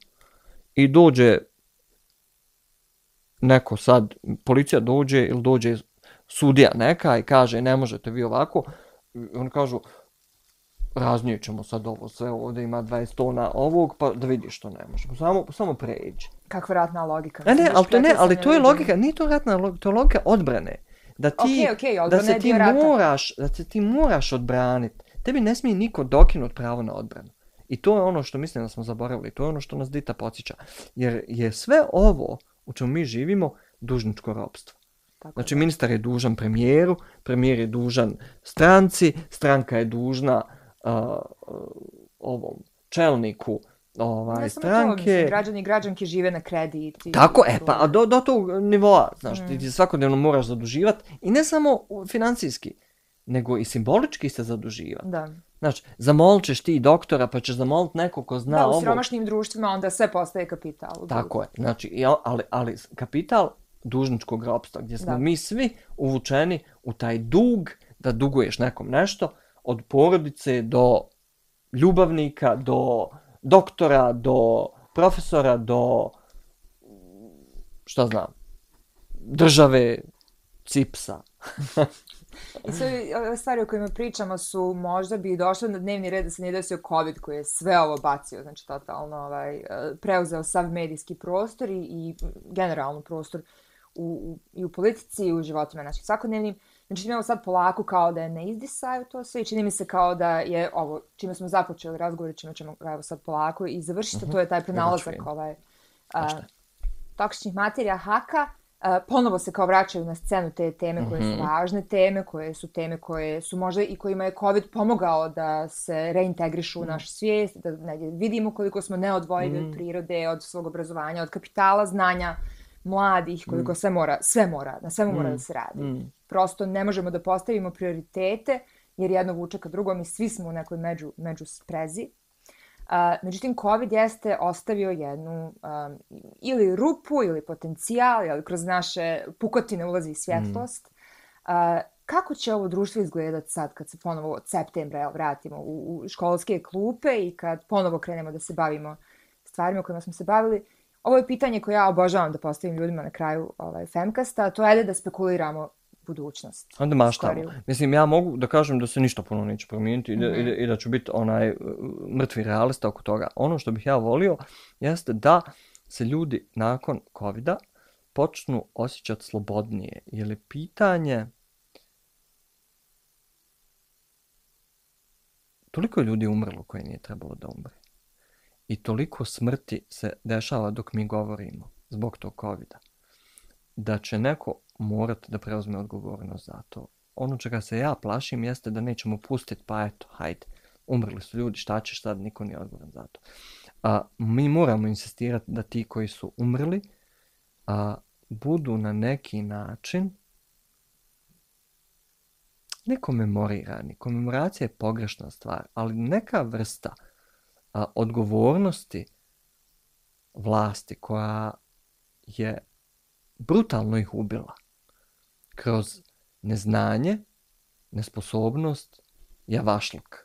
i dođe neko sad, policija dođe ili dođe sudija neka i kaže ne možete vi ovako. I oni kažu raznijećemo sad ovo sve, ovdje ima 20 tona ovog, pa da vidiš što ne možemo. Samo pređi. Kakva ratna logika. Ali to je logika, nije to ratna logika, to je logika odbrane. Da se ti moraš odbraniti. Tebi ne smije niko dokinuti pravo na odbranu. I to je ono što mislim da smo zaboravili, to je ono što nas Dita podsjeća. Jer je sve ovo u čemu mi živimo dužničko ropstvo. Znači ministar je dužan premijeru, premijer je dužan stranci, stranka je dužna ovom čelniku stranke. Građani i građanke žive na kredit. Tako, pa do tog nivoa, znaš, ti svakodnevno moraš zaduživati i ne samo financijski, nego i simbolički se zaduživati. Da. Znači, zamolit ćeš ti doktora, pa ćeš zamolit neko ko zna ovo. Da, u siromašnim društvima onda sve postaje kapital. Tako je, znači, ali kapital dužničkog ropstva, gdje smo mi svi uvučeni u taj dug, da duguješ nekom nešto, od porodice do ljubavnika, do doktora, do profesora, do šta znam, države, cipsa. I sve ove stvari o kojima pričamo su možda bi došle na dnevni red da se ne desio COVID koji je sve ovo bacio, znači totalno preuzeo sav medijski prostor i generalno prostor i u politici i u životima naših svakodnevnim. Znači imamo sad polako kao da je ne izdisaju to sve i čini mi se kao da je ovo čime smo započeli razgovor, čime ćemo evo sad polako i završiti, to je taj prenalazak toksičnih materija haka. Ponovo se kao vraćaju na scenu te teme koje su važne teme, koje su možda i kojima je COVID pomogao da se reintegrišu u našu svijest, da vidimo koliko smo neodvojivi od prirode, od svog obrazovanja, od kapitala, znanja, mladih, koliko na svemu mora da se radi. Prosto ne možemo da postavimo prioritete, jer jedno vuče ka drugom i svi smo u nekoj među sprezi. Međutim, COVID jeste ostavio jednu ili rupu ili potencijal, ali kroz naše pukotine ulazi svjetlost. Kako će ovo društvo izgledati sad kad se ponovo od septembra vratimo u školske klupe i kad ponovo krenemo da se bavimo stvarima kojima smo se bavili? Ovo je pitanje koje ja obožavam da postavim ljudima na kraju Femcasta, to je da spekuliramo budućnost. Onda maštamo. Mislim, ja mogu da kažem da se ništa puno neće promijeniti i da ću biti mrtvi realista oko toga. Ono što bih ja volio jeste da se ljudi nakon COVID-a počnu osjećati slobodnije. Jer je pitanje... Toliko je ljudi umrlo koje nije trebalo da umre. I toliko smrti se dešava dok mi govorimo zbog tog COVID-a. Da će neko morati da preuzme odgovornost za to. Ono čega se ja plašim jeste da nećemo pustiti, pa eto, hajde, umrli su ljudi, šta ćeš sad, niko nije odgovoran za to. Mi moramo insistirati da ti koji su umrli budu na neki način ne komemorirani. Komemoracija je pogrešna stvar, ali neka vrsta odgovornosti vlasti koja je brutalno ih ubila kroz neznanje, nesposobnost, javašluk.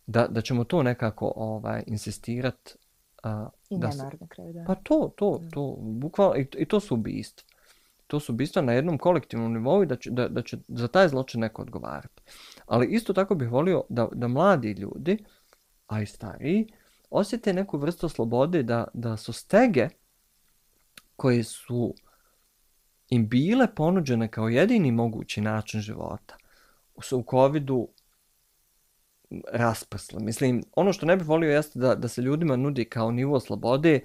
Da ćemo to nekako insistirati. I nemar na kraju, da. Pa to, bukvalno, i to su ubistva. To su ubistva na jednom kolektivnom nivou i da će za taj zločin neko odgovarati. Ali isto tako bih volio da mladi ljudi, a i stariji, osjete neku vrstu slobode da su stege koje su im bile ponuđene kao jedini mogući način života su u COVID-u rasprsle. Mislim, ono što ne bih volio jeste da se ljudima nudi kao nivo slobode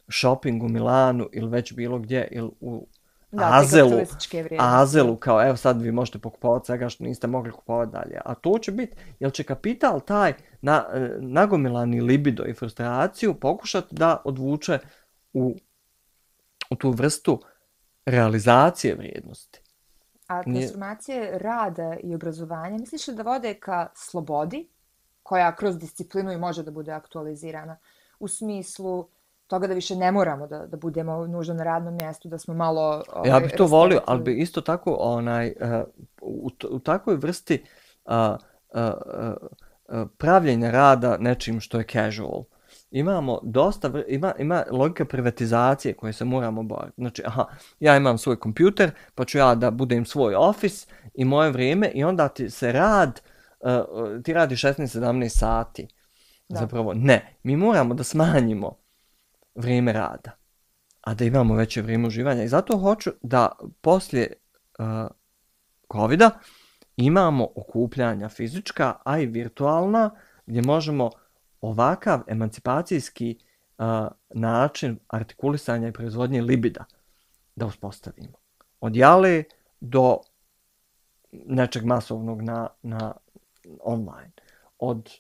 shopping u Milanu ili već bilo gdje ili u Azelu, kao evo sad vi možete pokupovati svega što niste mogli kupovati dalje. A to će biti, jel će kapital taj nagomilani libido i frustraciju pokušati da odvuče u u tu vrstu realizacije vrijednosti. A transformacije rada i obrazovanja, misliš li da vode ka slobodi, koja kroz disciplinu i može da bude aktualizirana, u smislu toga da više ne moramo da budemo nužno na radnom mjestu, da smo malo ja bih to volio, ali bi isto tako u takvoj vrsti pravljenja rada nečim što je casual. Imamo dosta, ima logika privatizacije koje se moramo boriti. Znači, ja imam svoj kompjuter, pa ću ja da budem svoj office i moje vrijeme i onda ti se ti radi 16-17 sati. Da. Zapravo, ne. Mi moramo da smanjimo vrijeme rada, a da imamo veće vrijeme uživanja. I zato hoću da poslije covida imamo okupljanja fizička, a i virtualna, gdje možemo ovakav emancipacijski način artikulisanja i proizvodnje libida da uspostavimo. Od jale do nečeg masovnog na online. Od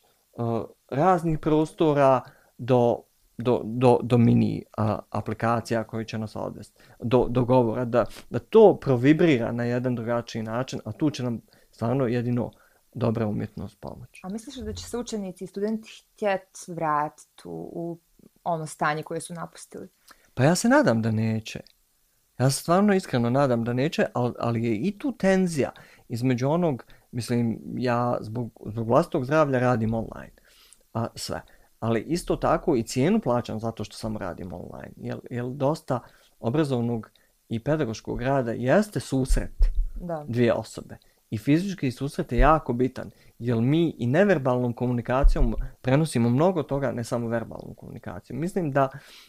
raznih prostora do mini aplikacija koji će nas odvesti. Do govora. Da to provibrira na jedan drugačiji način, a tu će nam stvarno jedino dobra umjetnost pomoći. A misliš da će se učenici i studenti htjeti vratiti u ono stanje koje su napustili? Pa ja se nadam da neće. Ja se stvarno iskreno nadam da neće, ali je i tu tenzija između onog, mislim, ja zbog vlastitog zdravlja radim online. Sve. Ali isto tako i cijenu plaćam zato što samo radim online. Jer dosta obrazovnog i pedagoškog rada jeste susret dvije osobe. I fizički susret je jako bitan, jer mi i neverbalnom komunikacijom prenosimo mnogo toga, ne samo verbalnom komunikacijom. Mislim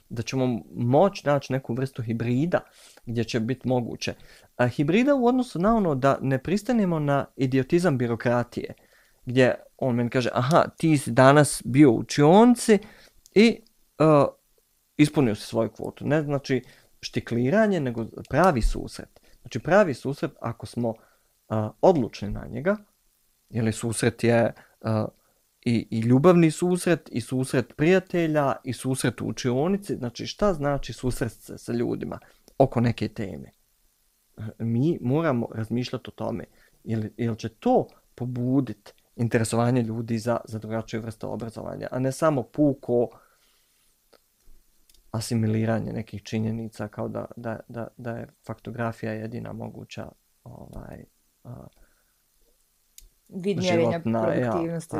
da ćemo moći naći neku vrstu hibrida gdje će biti moguće. Hibrida u odnosu na ono da ne pristanemo na idiotizam birokratije, gdje on meni kaže, ti si danas bio u učionci i ispunio si svoju kvotu. Ne znači štikliranje, nego pravi susret. Znači pravi susret ako smo odlučni na njega, jer susret je i ljubavni susret, i susret prijatelja, i susret u učionici. Znači šta znači susret sa ljudima oko neke teme? Mi moramo razmišljati o tome, jer će to pobuditi interesovanje ljudi za drugačije vrste obrazovanja, a ne samo puko asimiliranje nekih činjenica kao da je faktografija jedina moguća vid mjerenja produktivnosti.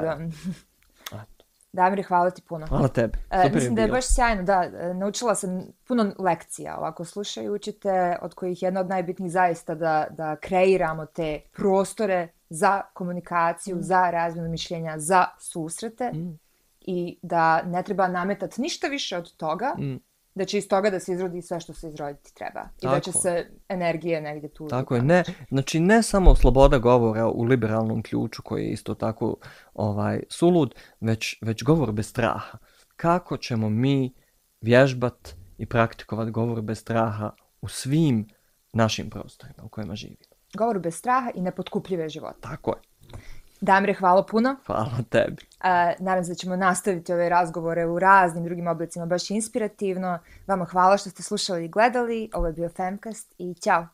Damire, hvala ti puno. Hvala tebi. Mislim da je baš sjajno. Naučila sam puno lekcija ovako slušajući te, od kojih jedna od najbitnijih zaista da kreiramo te prostore za komunikaciju, za razmjenu mišljenja, za susrete i da ne treba nametati ništa više od toga, da će iz toga da se izrodi sve što se izroditi treba. I da će se energije negdje tu... Tako je. Znači ne samo sloboda govora u liberalnom ključu koji je isto tako sulud, već govor bez straha. Kako ćemo mi vježbat i praktikovat govor bez straha u svim našim prostorima u kojima živimo? Govor bez straha i nepotkupljive života. Tako je. Damire, hvala puno. Hvala tebi. Nadam se da ćemo nastaviti ove razgovore u raznim drugim oblicima, baš inspirativno. Vama hvala što ste slušali i gledali. Ovo je bio Femcast i ćao.